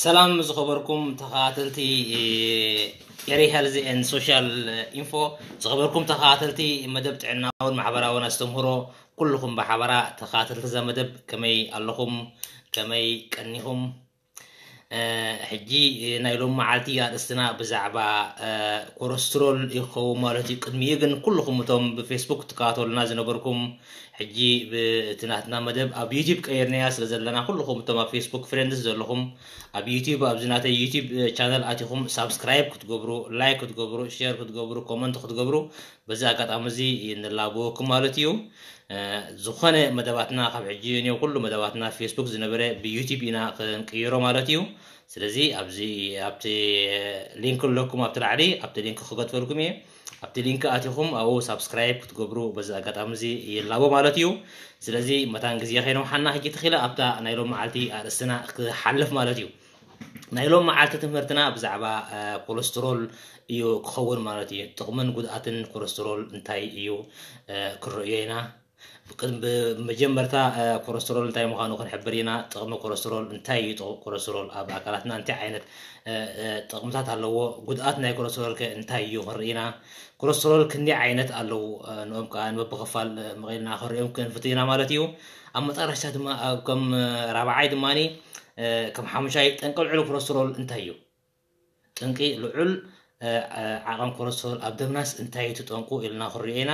ሰላም ዝኸበርኩም ተኸታተልቲ ኤሪ ሄልዝ ኤንድ ሶሻል ኢንፎ፣ ዝኸበርኩም ተኸታተልቲ መደብ ጥዕናውን ማሕበራውን ኣስተምህሮ፣ ኩልኹም ብሓበራ ተኸታተልቲ እዛ መደብ ከመይ ኣለኹም? ከመይ ቀኒኹም? ሕጂ ናይ ሎም መዓልቲ ኣርእስትና ብዛዕባ ኮረስትሮል ይኸውን ማለት እዩ። ቅድሚኡ ግን ኩልኹም እቶም ብፌስቡክ ትከታተሉና ዝነበርኩም፣ ሕጂ ብቲ ናትና መደብ ኣብ ዩቲብ ቀይርናያ ስለ ዘለና፣ ኩልኹም እቶም ኣብ ፌስቡክ ፍሬንድስ ዘለኹም፣ ኣብ ዩቲብ ኣብዚ ናተይ ዩቲብ ቻነል ኣቲኹም ሳብስክራይብ ክትገብሩ፣ ላይክ ክትገብሩ፣ ሼር ክትገብሩ፣ ኮመንት ክትገብሩ በዚ ኣጋጣሚ እዚ ንላበወኩም ማለት እዩ። ዝኾነ መደባትና ካብ ሕጂ ንዮ ኩሉ መደባትና ፌስቡክ ዝነበረ ብዩቲብ ኢና ክንቅይሮ ማለት እዩ። ስለዚ ኣብዚ ኣብቲ ሊንክ ኣለኩም ኣብቲ ላዕሊ፣ ኣብቲ ሊንክ ክገጥፈልኩም እየ። ኣብቲ ሊንክ ኣቲኹም ኣብኡ ሳብስክራይብ ክትገብሩ በዚ ኣጋጣሚ እዚ ይላቦ ማለት እዩ። ስለዚ መታን ግዜ ከይነውሓና ሕጂ ተኺለ ኣብታ ናይ ሎም መዓልቲ ኣርእስትና ክሓልፍ ማለት እዩ። ናይ ሎም መዓልቲ ትምህርትና ብዛዕባ ኮለስትሮል እዩ ክኸውን ማለት እዩ። ጥቕምን ጉድኣትን ኮለስትሮል እንታይ እዩ ክርእዮ ኢና። ብመጀመርታ ኮለስትሮል እንታይ ምዃኑ ክንሕብር ኢና። ጥቕሚ ኮለስትሮል እንታይ እዩ? ጥቕሚ ኮለስትሮል ኣብ ኣካላትና እንታይ ዓይነት ጥቕምታት ኣለዎ? ጉድኣት ናይ ኮለስትሮል ከ እንታይ እዩ ክንርኢ ኢና። ኮለስትሮል ክንደይ ዓይነት ኣለዉ? ንኦም ከዓ ንበብኽፋል መቒልና ክንሪኦም ክንፍትን ኢና ማለት እዩ። ኣብ መጠረሽታ ድማ ከም ራብዓይ ድማ ከም ሓሙሻይ ጠንቂ ልዑል ኮለስትሮል እንታይ እዩ? ጠንቂ ልዑል ዓቐን ኮለስትሮል ኣብ ደምናስ እንታይ እዩ እቲ ጠንቁ ኢልና ክንሪኦ ኢና።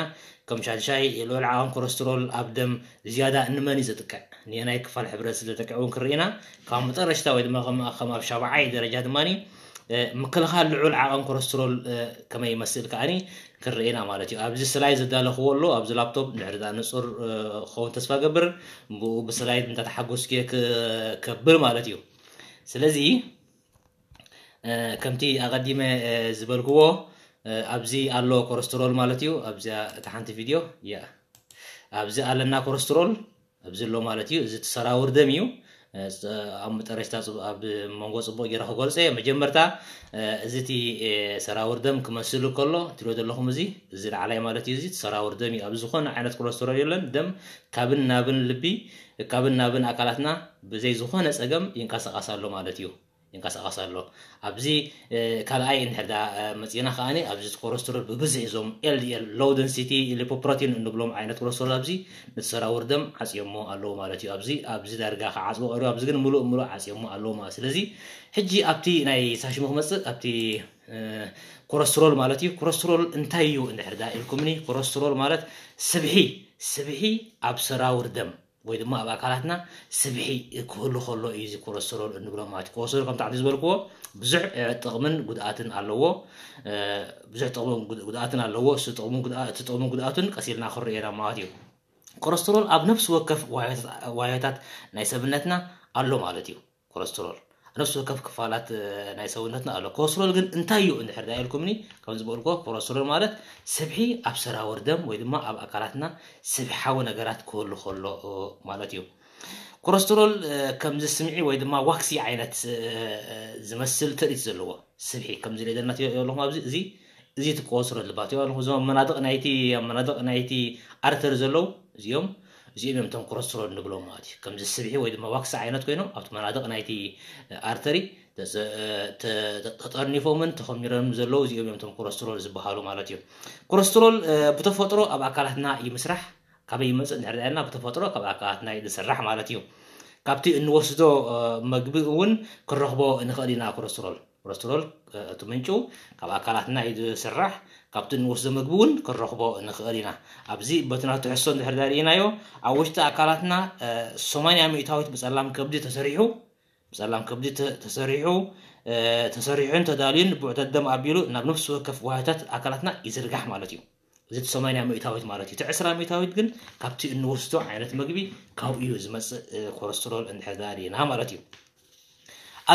ከም ሻድሻይ ልዑል ዓቐን ኮለስትሮል ኣብ ደም ዝያዳ እንመን እዩ ዘጥቅዕ? ንየናይ ክፋል ሕብረተሰብ ዘጥቅዕ እውን ክንርኢ ኢና። ካብ መጠረሽታ ወይ ድማ ከም ኣብ ሻብዓይ ደረጃ ድማ ምክልኻል ልዑል ዓቐን ኮለስትሮል ከመይ ይመስል ከዓኒ ክንርኢ ኢና ማለት እዩ። ኣብዚ ስላይድ ዘዳለኽዎ ኣሎ ኣብዚ ላፕቶፕ፣ ድሕሪ ዳ ንጹር ክኸውን ተስፋ ገብር፣ ብኡ ብስላይድ እንተተሓጎስኩ ከብል ማለት እዩ። ስለዚ ከምቲ ኣቐዲመ ዝበልክዎ ኣብዚ ኣሎ ኮለስትሮል ማለት እዩ። ኣብዚኣ እታ ሓንቲ ቪድዮ እያ። ኣብዚ ኣለና ኮለስትሮል ኣብዚ ኣሎ ማለት እዩ። እዚ እቲ ሰራውር ደም እዩ። ኣብ መጠረሽታ ኣብ መንጎ ጽቡቕ ገይረ ክገልጾ እየ። መጀመርታ እዚ እቲ ሰራውር ደም ክመስል ከሎ ትሪኦ ዘለኹም እዚ እዚ ላዕላይ ማለት እዩ። እዚ እቲ ሰራውር ደም እዩ። ኣብ ዝኾነ ዓይነት ኮለስትሮል የለን። ደም ካብን ናብን ልቢ ካብን ናብን ኣካላትና ብዘይ ዝኾነ ጸገም ይንቀሳቐስ ኣሎ ማለት እዩ። ይንቀሳቐስ ኣሎ። ኣብዚ ካልኣይ እንድሕር ዳ መፂና ከዓኒ ኣብዚ ኮለስትሮል ብብዝሒ እዞም ኤልዲኤል ሎው ደንሲቲ ሊፖፕሮቲን እንብሎም ዓይነት ኮለስትሮል ኣብዚ ነቲ ሰራውር ደም ዓፅዮሞ ኣለዉ ማለት እዩ። ኣብዚ ኣብዚ ዳርጋ ክዓፅዎ ቀሪቡ ኣብዚ ግን ሙሉእ ሙሉእ ዓፅዮሞ ኣለዉ ማለት። ስለዚ ሕጂ ኣብቲ ናይ ሳሽሙ ክመፅእ ኣብቲ ኮለስትሮል ማለት እዩ። ኮለስትሮል እንታይ እዩ እንድሕር ዳ ኢልኩምኒ፣ ኮለስትሮል ማለት ስብሒ ስብሒ ኣብ ሰራውር ደም ወይ ድማ ኣብ ኣካላትና ስብሒ ክህሉ ከሎ እዩ እዚ ኮለስትሮል እንብሎ ማለት እዩ። ኮለስትሮል ከምቲ ዓዲ ዝበልክዎ ብዙሕ ጥቕምን ጉድኣትን ኣለዎ። ብዙሕ ጥቕምን ጉድኣትን ኣለዎ። እቲ ጥቕምን ጉድኣቱን ቀሲልና ክንሪኦ ኢና ማለት እዩ። ኮለስትሮል ኣብ ነፍሲ ወከፍ ዋዮታት ናይ ሰብነትና ኣሎ ማለት እዩ። ኮለስትሮል ነፍሲ ወከፍ ክፋላት ናይ ሰውነትና ኣሎ። ኮለስትሮል ግን እንታይ እዩ እንድሕር ዳ ኢልኩምኒ፣ ከም ዝበልኮ ኮለስትሮል ማለት ስብሒ ኣብ ሰራውር ደም ወይ ድማ ኣብ ኣካላትና ስብሓዊ ነገራት ክህሉ ከሎ ማለት እዩ። ኮለስትሮል ከምዚ ስምዒ ወይ ድማ ዋክሲ ዓይነት ዝመስል ትርኢት ዘለዎ ስብሒ ከምዚ ሪኦ ዘለና ኣለኹም ኣብዚ እዚ እዚ እቲ ኮለስትሮል ልባት ኣለኹም እዞም መናድቕ ናይቲ ኣብ መናድቕ ናይቲ ኣርተሪ ዘለዉ እዚኦም እዚኦም እዮም እቶም ኮለስትሮል ንብሎም ማለት እዩ። ከምዚ ስብሒ ወይ ድማ ዋክሲ ዓይነት ኮይኖም ኣብቲ መናድቕ ናይቲ ኣርተሪ ተጠርኒፎምን ተኸሚሮምን ዘለዉ እዚኦም እዮም እቶም ኮለስትሮል ዝበሃሉ ማለት እዩ። ኮለስትሮል ብተፈጥሮ ኣብ ኣካላትና ይምስራሕ። ካበይ ይመፅእ እንድሕር ዳኢልና ብተፈጥሮ ካብ ኣካላትና እዩ ዝስራሕ ማለት እዩ። ካብቲ እንወስዶ መግቢ እውን ክንረኽቦ ንኽእል ኢና ኮለስትሮል። ኮለስትሮል እቲ ምንጩ ካብ ኣካላትና እዩ ዝስራሕ። ካብቲ እንወስዶ መግቢ እውን ክንረኽቦ ንኽእል ኢና። ኣብዚ በቲ ናቱ ትሕዝቶ እንድሕር ዳርኢናዮ ኣብ ውሽጢ ኣካላትና ሰማንያ ሚእታዊት ብፀላም ከብዲ ተሰሪሑ ብፀላም ከብዲ ተሰሪሑ ተሰሪሑን ተዳልዩን ብዑተት ደም ኣቢሉ ናብ ነፍሲ ወከፍ ዋህታት ኣካላትና ይዝርጋሕ ማለት እዩ። እዚ እቲ ሰማንያ ሚእታዊት ማለት እዩ። እቲ ዕስራ ሚእታዊት ግን ካብቲ እንወስዶ ዓይነት መግቢ ካብኡ እዩ ዝመፅእ ኮለስትሮል እንድሕር ዳርኢና ማለት እዩ።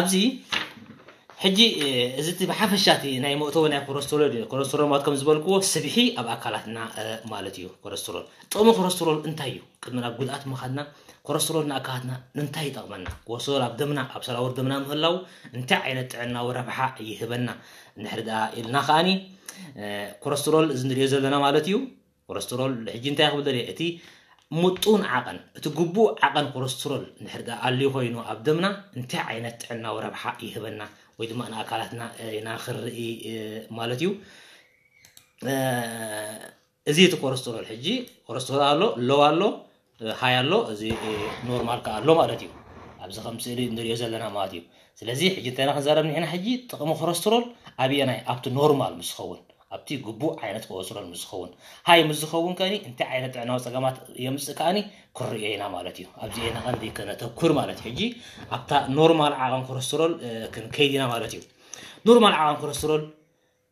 ኣብዚ ሕጂ እዚ እቲ ብሓፈሻ እቲ ናይ መእተዊ ናይ ኮለስትሮል እዩ። ኮለስትሮል ማለት ከም ዝበልክዎ ስብሒ ኣብ ኣካላትና ማለት እዩ። ኮለስትሮል ጥቕሚ ኮለስትሮል እንታይ እዩ? ቅድሚ ናብ ጉድኣት ምኻድና ኮለስትሮል ንኣካላትና እንታይ ይጠቕመና? ኮለስትሮል ኣብ ደምና ኣብ ሰራውር ደምና ምህላው እንታይ ዓይነት ጥዕናዊ ረብሓ ይህበና? እንድሕር ደኣ ኢልና ከዓኒ ኮለስትሮል እዚ ንሪኦ ዘለና ማለት እዩ። ኮለስትሮል ሕጂ እንታይ ክብል ደልየ እቲ ምጡን ዓቐን፣ እቲ ግቡእ ዓቐን ኮለስትሮል እንድሕር ደኣ ኣልዩ ኮይኑ ኣብ ደምና እንታይ ዓይነት ጥዕናዊ ረብሓ ይህበና ወይ ድማ ንኣካላትና ኢና ክንርኢ ማለት እዩ። እዚ እቲ ኮለስትሮል ሕጂ ኮለስትሮል ኣሎ፣ ሎው ኣሎ፣ ሃይ ኣሎ፣ እዚ ኖርማል ከኣ ኣሎ ማለት እዩ። ኣብዚ ከም ስእሊ እንሪኦ ዘለና ማለት እዩ። ስለዚ ሕጂ እንታይ ኢና ክንዛረብ ንሕና ሕጂ ጥቕሚ ኮለስትሮል ኣብየናይ ኣብቲ ኖርማል ምስ ዝኸውን ኣብቲ ግቡእ ዓይነት ኮለስትሮል ምስ ዝኸውን ሃይ ምስ ዝኸውን ከኒ እንታይ ዓይነት ጥዕናዊ ፀገማት የምፅእ ከኣኒ ክንሪኦ ኢና ማለት እዩ። ኣብዚ ኢና ቀንዲ ከነተኩር ማለት እዩ። ሕጂ ኣብታ ኖርማል ዓቐን ኮለስትሮል ክንከይድ ኢና ማለት እዩ። ኖርማል ዓቐን ኮለስትሮል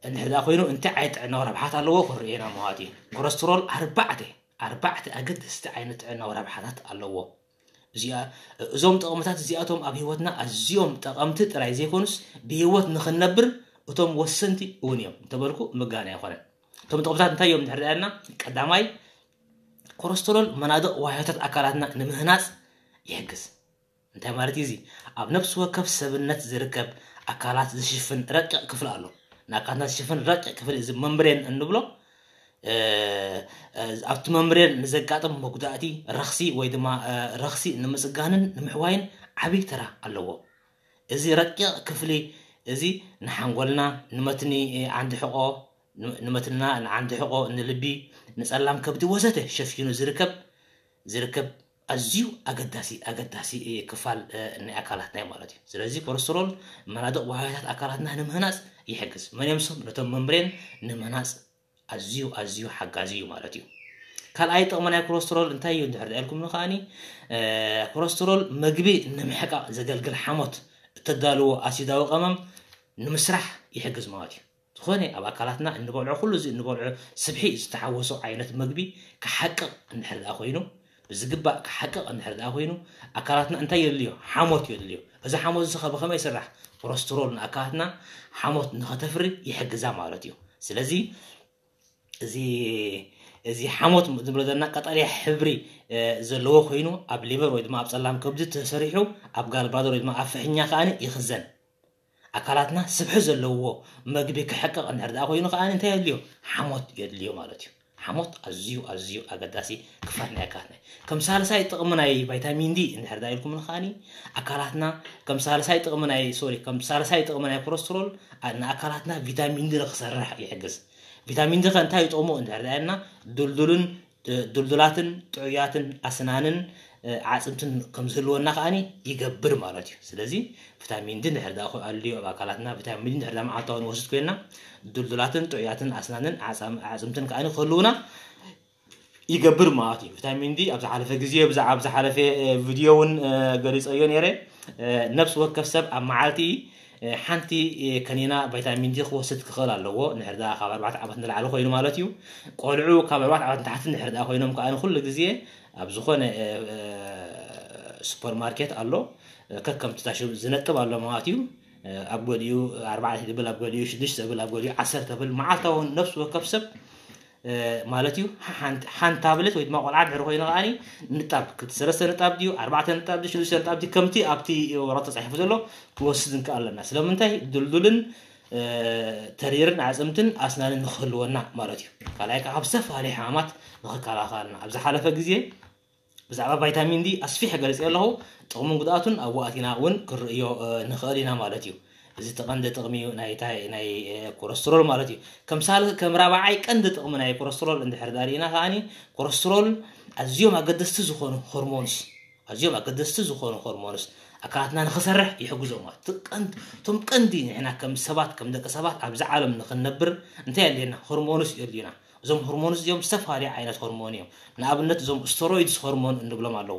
እንድሕር ደኣ ኮይኑ እንታይ ዓይነት ጥዕናዊ ረብሓት ኣለዎ ክንሪኦ ኢና ማለት እዩ። ኮለስትሮል ኣርባዕተ ኣርባዕተ ኣገደስቲ ዓይነት ጥዕናዊ ረብሓታት ኣለዎ። እዚኣ እዞም ጥቕምታት እዚኣቶም ኣብ ህይወትና ኣዝዮም ጠቐምቲ ጥራይ ዘይኮኑስ ብህይወት ንኽንነብር እቶም ወሰንቲ እውን እዮም እንተበልኩ ምግጋን ኣይኮነን። እቶም ጥቕምታት እንታይ እዮም እንድሕር ደኣ ኢልና ቀዳማይ ኮለስትሮል መናድቕ ዋህዮታት ኣካላትና ንምህናፅ ይሕግዝ። እንታይ ማለት እዩ እዚ? ኣብ ነፍሲ ወከፍ ሰብነት ዝርከብ ኣካላት ዝሽፍን ረቂቕ ክፍሊ ኣሎ። ንኣካላትና ዝሽፍን ረቂቕ ክፍሊ እዚ መምብሬን እንብሎ ኣብቲ መምብሬን ንዘጋጥም መጉዳእቲ ረኽሲ ወይ ድማ ረኽሲ ንምፅጋንን ንምሕዋይን ዓብዪ ተራ ኣለዎ። እዚ ረቂቕ ክፍሊ እዚ ንሓንጎልና ንመትኒ ዓንዲ ሕቆ ንመትንና ንዓንዲ ሕቆ ንልቢ ንፀላም ከብዲ ወዘተ ሸፊኑ ዝርከብ ዝርከብ ኣዝዩ ኣገዳሲ ኣገዳሲ ክፋል ናይ ኣካላትና እዩ ማለት እዩ። ስለዚ ኮለስትሮል መናድቕ ዋህዮታት ኣካላትና ንምህናፅ ይሕግዝ። መን እዮም እሶም? ነቶም መምብሬን ንምህናፅ ኣዝዩ ኣዝዩ ሓጋዚ እዩ ማለት እዩ። ካልኣይ ጥቕሚ ናይ ኮለስትሮል እንታይ እዩ እንድሕር ኢልኩም ከዓኒ ኮለስትሮል መግቢ ንምሕቃቕ ዘገልግል ሓሞት እተዳልዎ ኣሲዳዊ ቀመም ንምስራሕ ይሕግዝ ማለት እዩ። ዝኾነ ኣብ ኣካላትና እንበልዖ ኩሉ እዚ እንበልዖ ስብሒ ዝተሓወሶ ዓይነት መግቢ ክሓቅቕ እንድሕር ደኣ ኮይኑ ብዝግባእ ክሓቅቕ እንድሕር ደኣ ኮይኑ ኣካላትና እንታይ የድልዮ? ሓሞት የድልዮ። እዚ ሓሞት እዚ ኸ ብኸመይ ይስራሕ? ኮለስትሮል ንኣካላትና ሓሞት ንኸተፍሪ ይሕግዛ ማለት እዩ። ስለዚ እዚ እዚ ሓሞት ዝብሎ ዘለና ቀጠልያ ሕብሪ ዘለዎ ኮይኑ ኣብ ሊቨር ወይ ድማ ኣብ ጸላም ከብዲ ተሰሪሑ ኣብ ጋልባደር ወይ ድማ ኣብ ፍሕኛ ከኣ ይኽዘን። ኣካላትና ስብሒ ዘለዎ መግቢ ክሕቅቕ እንድሕር ደኣ ኮይኑ ከኣ እንታይ የድልዮ? ሓሞት የድልዮ ማለት እዩ። ሓሞት ኣዝዩ ኣዝዩ ኣገዳሲ ክፋል ናይ ኣካላትና እዩ። ከም ሳልሳይ ጥቕሚ ናይ ቫይታሚን ዲ እንድሕር ደኣ ኢልኩም ከኣ ኣካላትና ከም ሳልሳይ ጥቕሚ ናይ ሶሪ ከም ሳልሳይ ጥቕሚ ናይ ኮለስትሮል ንኣካላትና ቪታሚን ዲ ንክሰርሕ ይሕግዝ። ቪታሚን ዲ ከ እንታይ ይጠቕሞ እንድሕር ደኣ ኢልና ድልዱልን ድልዱላትን ጥዑያትን ኣስናንን ዓፅምትን ከም ዝህልወና ከኣ ይገብር ማለት እዩ። ስለዚ ቪታሚን ዲ እንድሕር ደኣ ኣልዩ ኣብ ኣካላትና ቪታሚን ዲ እንድሕር ደኣ መዓልታዊ ንወስድ ኮይና ድልዱላትን ጥዑያትን ኣስናንን ዓፅምትን ከኣ ክህልውና ይገብር ማለት እዩ። ቪታሚን ዲ ኣብ ዝሓለፈ ግዜ ብዛዕባ ኣብ ዝሓለፈ ቪድዮ እውን ገሊፀዮ ነይረ። ነብሲ ወከፍ ሰብ ኣብ መዓልቲ ሓንቲ ከኒና ቫይታሚን ዲ ክወስድ ክኽእል ኣለዎ። ንሕር ደኣ ካብ ኣርባዕተ ዓመት ንላዕሊ ኮይኑ ማለት እዩ። ቆልዑ ካብ ኣርባዕተ ዓመት ንታሕቲ ንሕር ደኣ ኮይኖም ከኣ ኩሉ ግዜ ኣብ ዝኾነ ሱፐርማርኬት ኣሎ ከከምቲ ታሽም ዝነጥብ ኣሎ ማለት እዩ። ኣብ ገሊኡ ኣርባዕተ ብል ኣብ ገሊኡ ሽዱሽተ ብል ኣብ ገሊኡ ዓሰርተ ብል መዓልታዊ ነብሲ ወከፍ ሰብ ማለት እዩ። ሓንቲ ታብለት ወይ ድማ ቆልዓ ድሕሪ ኮይኑ ከኣ ንጣብ ክልተ ሰለስተ ንጣብ ድዩ ኣርባዕተ ንጣብ ድዩ ሽዱሽተ ንጣብ ድዩ ከምቲ ኣብቲ ወረቐት ተፃሒፉ ዘሎ ክወስድ ንክእል ኣለና። ስለምንታይ ድልዱልን ተሪርን ኣፅምትን ኣስናንን ንክህልወና ማለት እዩ። ካልኣይ ከዓ ካብ ዝተፈላለዩ ሕማማት ንክከላኸልና ኣብ ዝሓለፈ ግዜ ብዛዕባ ቫይታሚን ዲ ኣስፊሐ ገሊፀ ኣለኹ። ጥቕሙን ጉድኣቱን ኣብኡ ኣቲና እውን ክንርእዮ ንኽእል ኢና ማለት እዩ። እዚ እቲ ቀንዲ ጥቕሚ እዩ ናይ ኮለስትሮል ማለት እዩ። ከም ሳል ከም ራብዓይ ቀንዲ ጥቕሚ ናይ ኮለስትሮል እንድሕር ዳኣ ርኢና ከዓኒ ኮለስትሮል ኣዝዮም ኣገደስቲ ዝኾኑ ሆርሞንስ ኣዝዮም ኣገደስቲ ዝኾኑ ሆርሞንስ ኣካላትና ንኽሰርሕ ይሕግዞም ማለት እቶም ቀንዲ ንሕና ከም ሰባት ከም ደቂ ሰባት ኣብዚ ዓለም ንኽንነብር እንታይ የድልየና? ሆርሞንስ የድልዩና። እዞም ሆርሞንስ እዚኦም ዝተፈላለዩ ዓይነት ሆርሞን እዮም። ንኣብነት እዞም ስቴሮይድስ ሆርሞን እንብሎም ኣለዉ።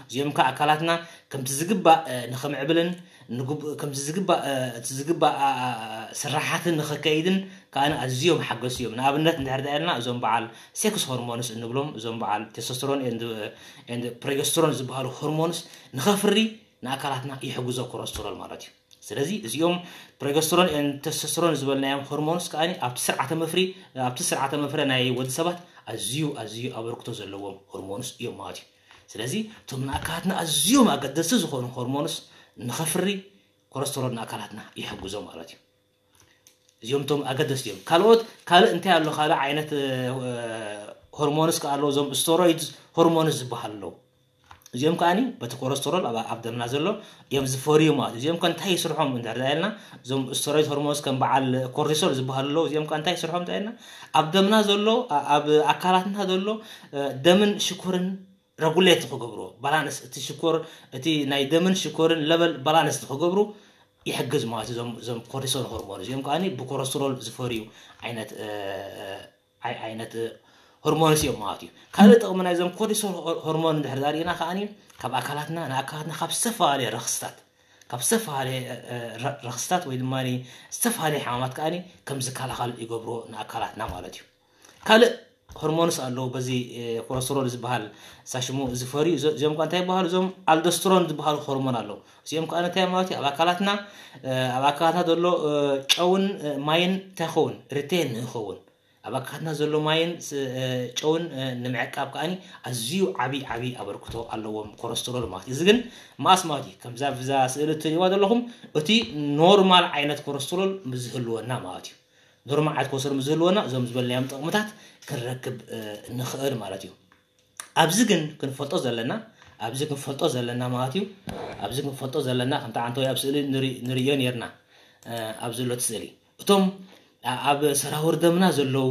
እዚኦም ከዓ ኣካላትና ከምቲ ዝግባእ ንኽምዕብልን ከምቲ ዝግባእ እቲ ዝግባእ ስራሓትን ንኽከይድን ከዓ ኣዝዮም ሓገዝቲ እዮም። ንኣብነት እንድሕር ዳኣ ኢልና እዞም በዓል ሴክስ ሆርሞንስ እንብሎም እዞም በዓል ቴስቶስተሮን ፕሮጀስትሮን ዝበሃሉ ሆርሞንስ ንኸፍሪ ንኣካላትና ይሕግዞ ኮለስትሮል ማለት እዩ። ስለዚ እዚኦም ፕሮጀስትሮን ቴስቶስተሮን ዝበልናዮም ሆርሞንስ ከዓ ኣብቲ ስርዓተ መፍሪ ኣብቲ ስርዓተ መፍረ ናይ ወዲ ሰባት ኣዝዩ ኣዝዩ ኣበርክቶ ዘለዎም ሆርሞንስ እዮም ማለት እዩ። ስለዚ እቶም ንኣካላትና ኣዝዮም ኣገደስቲ ዝኾኑ ሆርሞንስ ንኸፍሪ ኮለስትሮል ንኣካላትና ይሕግዞ ማለት እዩ። እዚኦም እቶም ኣገደስቲ እዮም። ካልኦት ካልእ እንታይ ኣሎ? ካልእ ዓይነት ሆርሞንስ ከዓ ኣለዉ፣ እዞም ስቴሮይድ ሆርሞንስ ዝበሃሉ ኣለዉ። እዚኦም ከዓኒ በቲ ኮለስተሮል ኣብ ደምና ዘሎ እዮም ዝፈርዩ ማለት እዩ። እዚኦም ከ እንታይ ይስርሖም እንድሕር ዳ ኢልና፣ እዞም ስቴሮይድ ሆርሞንስ ከም በዓል ኮርቲሶል ዝበሃሉ ኣለዉ። እዚኦም ከ እንታይ ይስርሖም እንዳ ኢልና፣ ኣብ ደምና ዘሎ ኣብ ኣካላትና ዘሎ ደምን ሽኮርን ረጉሌት ክገብርዎ፣ ባላንስ፣ እቲ ሽኮር፣ እቲ ናይ ደምን ሽኮርን ለበል ባላንስ ክገብሩ ይሕግዝ ማለት እዩ። እዞም ኮርቲሶል ሆርሞን እዚኦም ከዓ ብኮለስተሮል ዝፈርዩ ዓይነት ዓይነት ሆርሞንስ እዮም ማለት እዩ። ካልእ ጥቕሚ ናይዞም ኮርቲሶል ሆርሞን እንድሕር ዳርኢና ከዓ ካብ ኣካላትና ንኣካላትና ካብ ዝተፈላለየ ረክስታት ካብ ዝተፈላለየ ረክስታት ወይ ድማ ዝተፈላለየ ሕማማት ከዓ ከም ዝከላኸል ይገብሮ ንኣካላትና ማለት እዩ። ካልእ ሆርሞንስ ኣለዉ፣ በዚ ኮለስተሮል ዝበሃል ሳሽሙ ዝፈርዩ። እዚኦም ኳ እንታይ ይበሃሉ? እዞም ኣልዶስትሮን ዝበሃሉ ሆርሞን ኣለዉ። እዚኦም ከዓ እንታይ ማለት እዩ? ኣብ ኣካላትና ኣብ ኣካላትና ዘሎ ጨውን ማይን እንታይ ኸውን? ሪቴን ንኸውን ኣብ ኣካላትና ዘሎ ማይን ጨውን ንምዕቃብ ከዓኒ ኣዝዩ ዓብዪ ዓብዪ ኣበርክቶ ኣለዎም ኮለስተሮል ማለት እዩ። እዚ ግን መኣስ ማለት እዩ? ከምዛ ብዛ ስእሊ እትሪእዋ ዘለኹም እቲ ኖርማል ዓይነት ኮለስተሮል ምዝህልወና ማለት እዩ። ኖርማል ዓይነት ኮለስተሮል ምዝህልወና እዞም ዝበልናዮም ጥቕምታት ክንረክብ ንኽእል ማለት እዩ። ኣብዚ ግን ክንፈልጦ ዘለና ኣብዚ ክንፈልጦ ዘለና ማለት እዩ። ኣብዚ ክንፈልጦ ዘለና ከምቲ ዓንተወይ ኣብ ስእሊ ንርእዮ ነርና ኣብዚ ዘሎ እቲ ስእሊ እቶም ኣብ ሰራውር ደምና ዘለዉ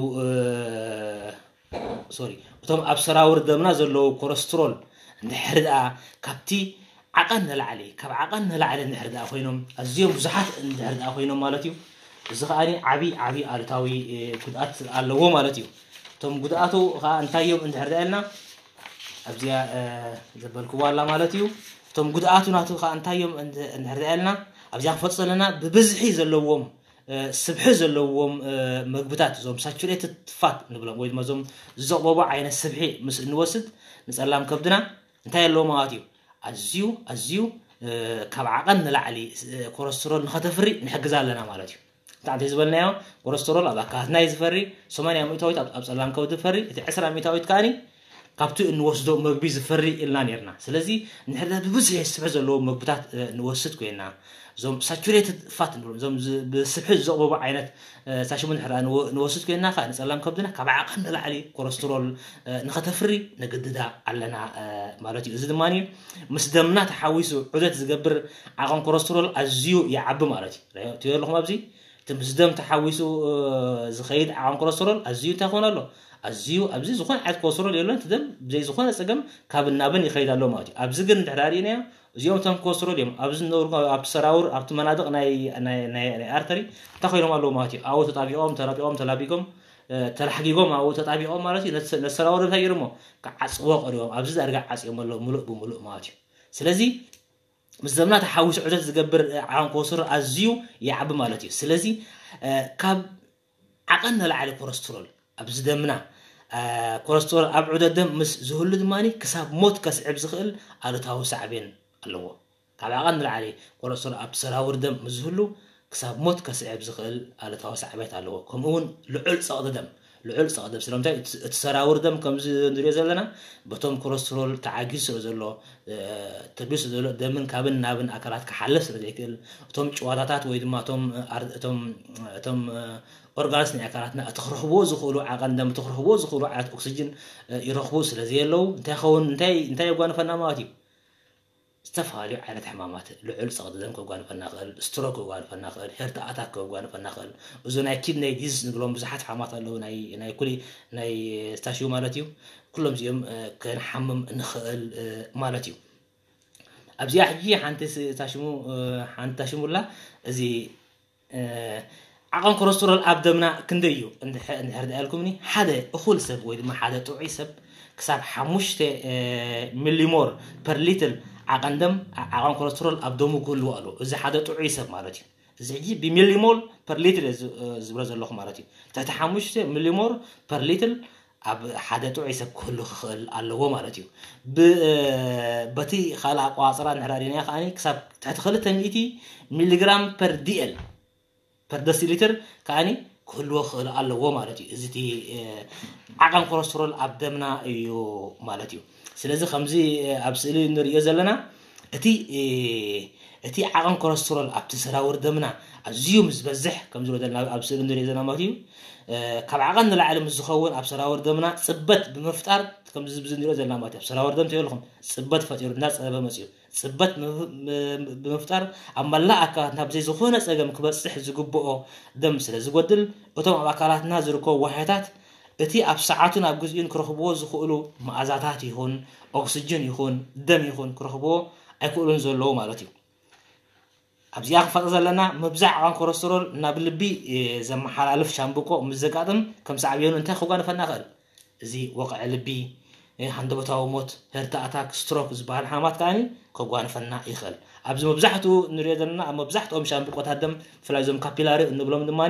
ሶሪ እቶም ኣብ ሰራውር ደምና ዘለዉ ኮለስትሮል እንድሕር ደኣ ካብቲ ዓቐን ንላዕሊ ካብ ዓቐን ንላዕሊ እንድሕር ደኣ ኮይኖም ኣዝዮም ብዙሓት እንድሕር ደኣ ኮይኖም ማለት እዩ። እዚ ከዓኒ ዓብዪ ዓብዪ ኣሉታዊ ጉድኣት ኣለዎ ማለት እዩ። እቶም ጉድኣቱ ከዓ እንታይ እዮም እንድሕር ደኣ ኢልና ኣብዚኣ ዘበልክዋ ኣላ ማለት እዩ። እቶም ጉድኣቱ ናቱ ከዓ እንታይ እዮም እንድሕር ደኣ ኢልና ኣብዚኣ ክፈልጦ ዘለና ብብዝሒ ዘለዎም ስብሒ ዘለዎም መግብታት እዞም ሳቹሬትድ ፋት ንብሎም ወይ ድማ እዞም ዝዘቕበቡ ዓይነት ስብሒ ምስ እንወስድ ንፀላም ከብድና እንታይ ኣለዎ ማለት እዩ? ኣዝዩ ኣዝዩ ካብ ዓቐን ንላዕሊ ኮለስትሮል ንኸተፍሪ ንሕግዛ ኣለና ማለት እዩ። እንታይ ዝበልናዮ ኮለስትሮል ኣብ ኣካላትና እዩ ዝፈሪ፣ ሰማንያ ሚእታዊት ኣብ ፀላም ከብዲ ዝፈሪ፣ እቲ ዕስራ ሚእታዊት ከዓኒ ካብቲ እንወስዶ መግቢ ዝፈሪ ኢልና ነርና። ስለዚ ንሕርዳ ብብዝሒ ስብሒ ዘለዎ መግብታት ንወስድ ኮይና እዞም ሳቹሬትድ ፋት ንብሎም እዞም ብስብሒ ዝዘቕበቡ ዓይነት ሳሽሙ ንሕርዳ ንወስድ ኮይና ከዓ ንፀላም ከብድና ካብ ዓቐን ንላዕሊ ኮለስትሮል ንኸተፍሪ ንግድዳ ኣለና ማለት እዩ። እዚ ድማ ምስ ደምና ተሓዊሱ ዑደት ዝገብር ዓቐን ኮለስትሮል ኣዝዩ ይዓቢ ማለት እዩ። ትሪኦ ኣለኹም ኣብዚ እቲ ምስ ደም ተሓዊሱ ዝኸይድ ዓቐን ኮለስትሮል ኣዝዩ እንታይ ክኾን ኣሎ? ኣዝዩ ኣብዚ ዝኾነ ዓይነት ኮለስትሮል የሎን። እቲ ደም ብዘይ ዝኾነ ፀገም ካብ ናብን ይኸይድ ኣሎ ማለት እዩ። ኣብዚ ግን እንድሕር ርኢናዮ እዚኦም እቶም ኮለስትሮል እዮም ኣብዚ ዝነብሩ ኣብቲ ሰራውር ኣብቲ መናድቕ ናይ ኣርተሪ እንታይ ኮይኖም ኣለዉ ማለት እዩ። ኣብኡ ተጣቢቖም ተላቢቖም ተላቢጎም ተላሕጊጎም ኣብኡ ተጣቢቖም ማለት እዩ። ነቲ ሰራውር እንታይ ገይሮሞ ክዓፅዎ ቀሪቦም ኣብዚ ዳርጋ ዓፅዮም ኣለዉ ሙሉእ ብሙሉእ ማለት እዩ። ስለዚ ምስ ደምና ተሓዊሱ ዑደት ዝገብር ዓቐን ኮለስትሮል ኣዝዩ ይዓቢ ማለት እዩ። ስለዚ ካብ ዓቐን ንላዕሊ ኮለስትሮል ኣብዚ ደምና ኮለስትሮል ኣብ ዑደት ደም ምስ ዝህሉ ድማ ክሳብ ሞት ከስዕብ ዝኽእል ኣሉታዊ ሳዕቤን ኣለዎ። ካብ ዓቐን ንላዕሊ ኮለስትሮል ኣብ ሰራውር ደም ምስ ዝህሉ ክሳብ ሞት ከስዕብ ዝኽእል ኣሉታዊ ሳዕቤት ኣለዎ። ከምኡ እውን ልዑል ፀቕጢ ደም ልዑል ፀቕጢ ደም ስለምንታይ እቲ ሰራውር ደም ከምዚ ንሪኦ ዘለና በቶም ኮለስትሮል ተዓጊሱ ስለ ዘሎ ተቢሱ ዘሎ ደምን ካብን ናብን ኣካላት ክሓልፍ ስለ ዘይክእል እቶም ጭዋታታት ወይ ድማ እቶም ኦርጋንስ ናይ ኣካላትና እቲ ክረኽብዎ ዝኽእሉ ዓቐን ደም እቲ ክረኽብዎ ዝኽእሉ ዓይነት ኦክሲጅን ይረኽቡ ስለ ዘየለዉ እንታይ ኸውን እንታይ የጓንፈና ማለት እዩ። ዝተፈላለዩ ዓይነት ሕማማት ልዑል ፀቕጢ ደም ከጓንፈና ክእል፣ ስትሮክ ከጓንፈና ክእል፣ ሄርት ኣታክ ከጓንፈና ክእል። እዚ ናይ ኪድነይ ዲዝስ ንብሎም ብዙሓት ሕማማት ኣለዉ ናይ ኩሊ ናይ ስታሽዩ ማለት እዩ። ኩሎም እዚኦም ክንሓምም ንኽእል ማለት እዩ። ኣብዚኣ ሕጂ ሓንቲ ታሽሙ ሓንቲ ታሽሙላ እዚ ዓቐን ኮለስትሮል ኣብ ደምና ክንደይ እዩ እንድሕር ደኣልኩምኒ ሓደ እኹል ሰብ ወይ ድማ ሓደ ጥዑይ ሰብ ክሳብ ሓሙሽተ ሚሊሞር ፐር ሊትር ዓቐን ደም ዓቐን ኮለስትሮል ኣብ ደሙ ክህልዎ ኣለዎ። እዚ ሓደ ጥዑይ ሰብ ማለት እዩ። እዚ ሕጂ ብሚሊሞል ፐር ሊትር ዝብሎ ዘለኹ ማለት እዩ። ትሕቲ ሓሙሽተ ሚሊሞር ፐር ሊትር ኣብ ሓደ ጥዑይ ሰብ ክህሉ ክኽእል ኣለዎ ማለት እዩ። በቲ ካልእ ኣቋፅራ ንሕራሪና ከኣ ክሳብ ትሕቲ ክልተ ሚእቲ ሚሊግራም ፐር ዲኤል ፐር ደሲሊትር ከዓኒ ክህልዎ ክኽእል ኣለዎ ማለት እዩ። እዚ እቲ ዓቐን ኮለስትሮል ኣብ ደምና እዩ ማለት እዩ። ስለዚ ከምዚ ኣብ ስእሊ ንሪኦ ዘለና እቲ እቲ ዓቐን ኮለስትሮል ኣብቲ ሰራውር ደምና ኣዝዩ ምስ ዝበዝሕ፣ ከም ዝብሎ ዘለና ኣብ ስእሊ ንሪኦ ዘለና ማለት እዩ፣ ካብ ዓቐን ንላዕሊ ምስ ዝኸውን ኣብ ሰራውር ደምና ጽበት ብምፍጣር፣ ከምዚ ንሪኦ ዘለና ማለት እዩ፣ ኣብ ሰራውር ደም ትብልኹም ጽበት ፈጢሩ እናጸበበ መጽዩ፣ ጽበት ብምፍጣር ኣብ መላእ ኣካላትና ብዘይ ዝኾነ ጸገም ክበጽሕ ዝግብኦ ደም ስለ ዝጎድል፣ እቶም ኣብ ኣካላትና ዝርከቡ ዋህዮታት እቲ ኣብ ሰዓቱን ኣብ ግዜኡን ክረኽብዎ ዝኽእሉ መኣዛታት ይኹን ኦክስጅን ይኹን ደም ይኹን ክረኽብዎ ኣይክእሉን ዘለዉ ማለት እዩ። ኣብዚኣ ክፋጠ ዘለና ምብዛሕ ዓቐን ኮለስትሮል ናብ ልቢ ዘመሓላልፍ ሻምብቆ ምስ ዘጋጥም ከም ሳዕቤኑ እንታይ ከጓንፈና ይኽእል? እዚ ወቕዒ ልቢ፣ ሃንደበታዊ ሞት፣ ሄርት ኣታክ፣ ስትሮክ ዝበሃል ሓማት ከዓኒ ከጓንፈና ይኽእል። ኣብዚ መብዛሕትኡ ንሪኦ ዘለና ኣብ መብዛሕትኦም ሻምብቆታት ደም ብፍላይ እዞም ካፒላሪ እንብሎም ድማ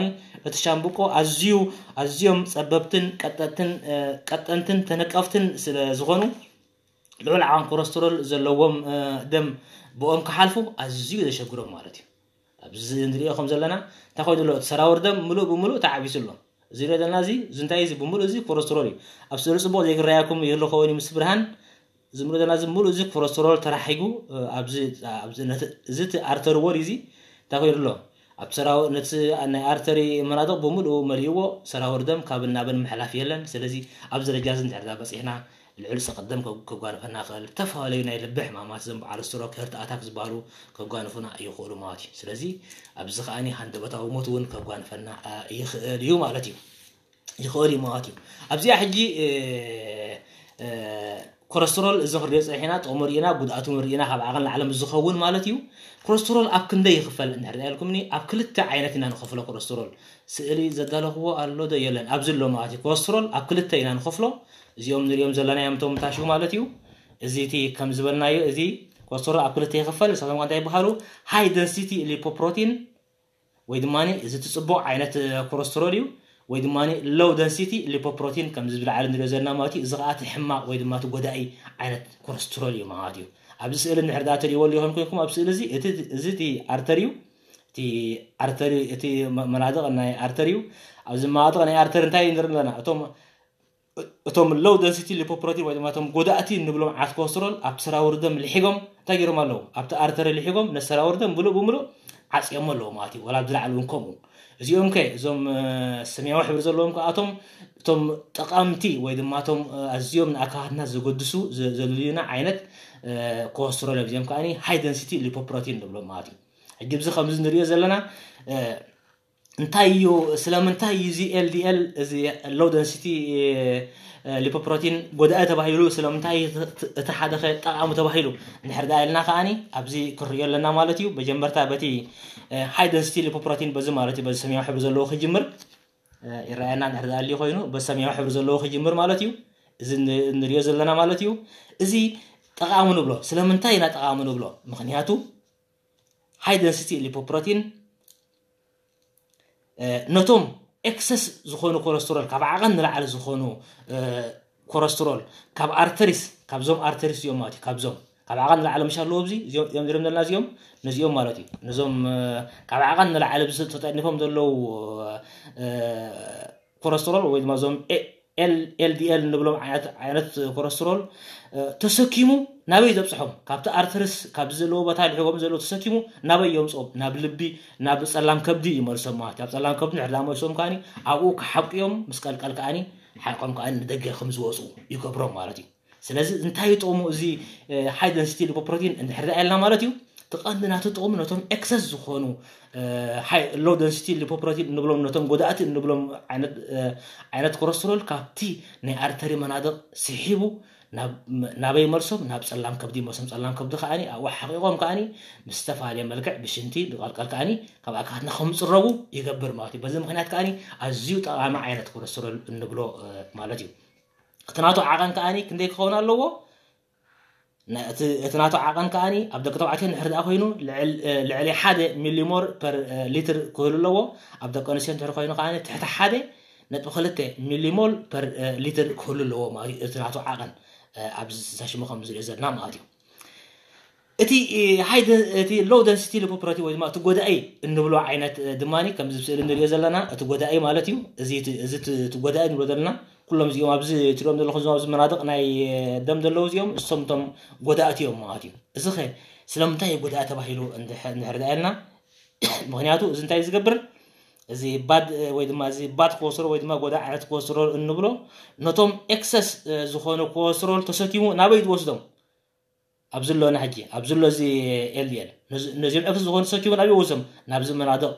እቲ ሻምብቆ ኣዝዩ ኣዝዮም ጸበብትን ቀጠንትን ተነቀፍትን ስለ ዝኾኑ ልዑል ዓቐን ኮለስትሮል ዘለዎም ደም ብኦም ክሓልፉ ኣዝዩ ዘሸግሮም ማለት እዩ። ኣብዚ ንሪኦ ከም ዘለና እንታይ ኮይኑ ኣሎ? እቲ ሰራውር ደም ምሉእ ብምሉእ ተዓቢሱ ኣሎ። እዚ ንሪኦ ዘለና እዚ እዚ እንታይ እዚ ብምሉእ እዚ ኮለስትሮል እዩ። ኣብ ስእሊ ጽቡቕ ዘይክረኣየኩም ይህሉ ኸውን እዩ ምስ ብርሃን። እዚ ንሪኦ ዘለና እዚ ምሉእ እዚ ኮለስትሮል ተራሒጉ ኣብዚ ኣብዚ ነቲ እዚ እቲ ኣርተሪ ዎል እዚ እንታይ ኮይኑ ኣሎ? ኣብቲ ሰራው ነቲ ናይ ኣርተሪ መናድቕ ብምሉኡ መሊእዎ ሰራውር ደም ካብ ናብን ምሕላፍ የለን። ስለዚ ኣብዚ ደረጃ እዚ እንድሕር በፂሕና ልዑል ጸቕጢ ደም ከጓንፈና ይኽእል። ዝተፈላለዩ ናይ ልቢ ሕማማት፣ እዞም በዓል ስትሮክ፣ ሄርት ኣታክ ዝበሃሉ ከጓንፉና ይኽእሉ ማለት እዩ። ስለዚ ኣብዚ ከዓኒ ሃንደበታዊ ሞት እውን ከጓንፈና ይኽእል እዩ ማለት እዩ። ይኽእል እዩ ማለት እዩ። ኣብዚኣ ሕጂ ኮለስትሮል እዚ ክንሪኦ ጸኒሕና፣ ጥቕሙ ርኢና፣ ጉድኣቱ ርኢና፣ ካብ ዓቐን ላዕሊ ምስ ዝኸውን ማለት እዩ። ኮለስትሮል ኣብ ክንደይ ይኽፈል እንድሕር ኢልኩምኒ፣ ኣብ ክልተ ዓይነት ኢና ንኸፍሎ ኮለስትሮል። ስእሊ ዘዳለኽዎ ኣሎ ዶ የለን? ኣብዚ ኣሎ ማለት እዩ። ኮለስትሮል ኣብ ክልተ ኢና ንኸፍሎ። እዚኦም ንሪኦም ዘለናዮም እቶም ታሹ ማለት እዩ። እዚ እቲ ከም ዝበልናዮ እዚ ኮለስትሮል ኣብ ክልተ ይኽፈል። ንሳቶም እንታይ ይበሃሉ? ሃይ ደንሲቲ ሊፖፕሮቲን ወይ ድማ እዚ እቲ ጽቡቕ ዓይነት ኮለስትሮል እዩ፣ ወይ ድማ ሎው ደንሲቲ ሊፖፕሮቲን ከምዚ ብላዕሊ ንሪኦ ዘለና ማለት እዩ። እዚ ከዓ እቲ ሕማቕ ወይ ድማ እቲ ጎዳኢ ዓይነት ኮለስትሮል እዩ ማለት እዩ። ኣብዚ ስእሊ እንድሕር ደኣ ትሪእዎ ኣለኹም ኮይንኩም ኣብ ስእሊ እዚ እቲ እዚ እቲ ኣርተሪ እዩ። እቲ ኣርተሪ እቲ መናድቕ ናይ ኣርተሪ እዩ። ኣብዚ መናድቕ ናይ ኣርተሪ እንታይ ንርኢ ኣለና? እቶም እቶም ሎው ደንሲቲ ሊፖፕሮቲን ወይ ድማ እቶም ጎዳእቲ እንብሎም ዓት ኮለስትሮል ኣብቲ ሰራውር ደም ልሒጎም እንታይ ገይሮም ኣለዉ? ኣብቲ ኣርተሪ ልሒጎም ነቲ ሰራውር ደም ብሉእ ብምሉእ ዓጽዮሞ ኣለዉ ማለት እዩ። ወላ ኣብዚ ላዕሊ እውን ከምኡ። እዚኦም ከ እዞም ሰማያዊ ሕብሪ ዘለዎም ከኣቶም እቶም ጠቓምቲ ወይ ድማ እቶም ኣዝዮም ንኣካላትና ዘገድሱ ዘድልዩና ዓይነት ኮለስትሮል እዮም። እዚኦም ከኣ ሃይ ደንሲቲ ሊፖፕሮቲን ንብሎም ማለት እዩ። ሕጂ ብዚ ከምዚ ንሪኦ ዘለና እንታይ እዩ? ስለምንታይ እዩ እዚ ኤልዲኤል እዚ ሎው ደንሲቲ ሊፖፕሮቲን ጎዳኢ ተባሂሉ? ስለምንታይ እቲ ሓደ ጠቃሚ ተባሂሉ? እንድሕር ደኣ ኢልና ከዓኒ ኣብዚ ክንሪኦ ኣለና ማለት እዩ። መጀመርታ በቲ ሃይ ደንሲቲ ሊፖፕሮቲን በዚ ማለት እዩ፣ በዚ ሰማያዊ ሕብሪ ዘለዎ ክጅምር ይረኣየና። እንድሕር ደኣ ኣልዩ ኮይኑ በዚ ሰማያዊ ሕብሪ ዘለዎ ክጅምር ማለት እዩ። እዚ ንሪኦ ዘለና ማለት እዩ። እዚ ጠቃሚ ንብሎ። ስለምንታይ ኢና ጠቃሚ ንብሎ? ምክንያቱ ሃይ ደንሲቲ ሊፖፕሮቲን ነቶም ኤክሰስ ዝኾኑ ኮለስትሮል፣ ካብ ዓቐን ንላዕሊ ዝኾኑ ኮለስትሮል ካብ ኣርተሪስ፣ ካብዞም ኣርተሪስ እዮም ማለት እዩ። ካብዞም ካብ ዓቐን ንላዕሊ ምሽ ኣለዎ ኣብዚ እዮም ዝርም ዘለና እዚኦም ነዚኦም ማለት እዩ። ነዞም ካብ ዓቐን ንላዕሊ ተጠኒፎም ዘለዉ ኮለስትሮል ወይ ድማ እዞም ኤልዲኤል እንብሎም ዓይነት ኮለስትሮል ተሰኪሙ ናበይ ዘብፅሖም? ካብቲ ኣርተርስ ካብዚ ዘለዎ ቦታ ልሕዎም ዘሎ ተሰኪሙ ናበይ የምፅኦም? ናብ ልቢ፣ ናብ ፀላም ከብዲ ይመልሶም ማለት እዩ። ኣብ ፀላም ከብዲ ንሕዳ መልሶም ከዓኒ ኣብኡ ክሓብቅዮም ምስ ቀልቀል ከዓኒ ሓቆም ከዓኒ ንደገ ከም ዝወፁ ይገብሮም ማለት እዩ። ስለዚ እንታይ ጥቕሙ እዚ ሃይ ደንሲቲ ሊፖፕሮቲን እንድሕር ኢልና ማለት እዩ? ትቐንዲ ናቱ ጥቕሙ ነቶም ኤክሰስ ዝኾኑ ሎው ደንሲቲ ሊፖፕሮቲን እንብሎም ነቶም ጎዳእቲ እንብሎም ዓይነት ኮለስትሮል ካብቲ ናይ ኣርተሪ መናድቕ ስሒቡ ናበይ መልሶም? ናብ ጸላም ከብዲ መልሶም። ጸላም ከብዲ ከዓኒ ኣብኡ ሓቂቖም ከዓኒ ብዝተፈላለየ መልክዕ ብሽንቲ ብቐልቀል ከዓኒ ካብ ኣካላትና ከም ዝጽረቡ ይገብር ማለት እዩ። በዚ ምክንያት ከዓኒ ኣዝዩ ጠቓሚ ዓይነት ኮለስትሮል እንብሎ ማለት እዩ። እቲ ናቱ ዓቐን ከዓኒ ክንደይ ክኸውን ኣለዎ? እቲ ናቱ ዓቐን ከዓኒ ኣብ ደቂ ተባዕትዮ እንድሕር ደኣ ኮይኑ ልዕሊ ሓደ ሚሊሞል ፐር ሊትር ክህሉ ኣለዎ። ኣብ ደቂ ኣንስትዮ እንድሕር ኮይኑ ከዓኒ ትሕቲ ሓደ ነጥቢ ክልተ ሚሊሞል ፐር ሊትር ክህሉ ኣለዎ ማለት እዩ። እቲ ናቱ ዓቐን ኣብዚ ስልሳ ሽሙ ከም ዝሪኦ ዘለና ማለት እዩ። እቲ ሃይ እቲ ሎው ደንሲቲ ሊፖፕሮቲን ወይ ድማ እቲ ጎዳኢ እንብሎ ዓይነት ድማ ከምዚ ስእሊ ንሪኦ ዘለና እቲ ጎዳኢ ማለት እዩ። እዚ እቲ ጎዳኢ ንብሎ ዘለና ኩሎም እዚኦም ኣብዚ ትሪኦም ዘለኹም እዞም ኣብዚ መናድቕ ናይ ደም ዘለዉ እዚኦም እሶም እቶም ጎዳእቲ እዮም ማለት እዩ። እዚ ኸ ስለምንታይ ይጉዳእ ተባሂሉ እንድሕር ዳኣ ኢልና፣ ምክንያቱ እዚ እንታይ ዝገብር፣ እዚ ባድ ወይ ድማ እዚ ባድ ኮለስትሮል ወይ ድማ ጎዳ ዓይነት ኮለስትሮል እንብሎ ነቶም ኤክሰስ ዝኾነ ኮለስትሮል ተሰኪሙ ናበይ ዝወስዶም? ኣብዚ ኣሎ ሕጂ ኣብዚ ኣሎ እዚ ኤልዲኤል ነዚኦም ኤክሰስ ዝኾኑ ተሰኪሙ ናበይ ይወስዶም? ናብዚ መናድቕ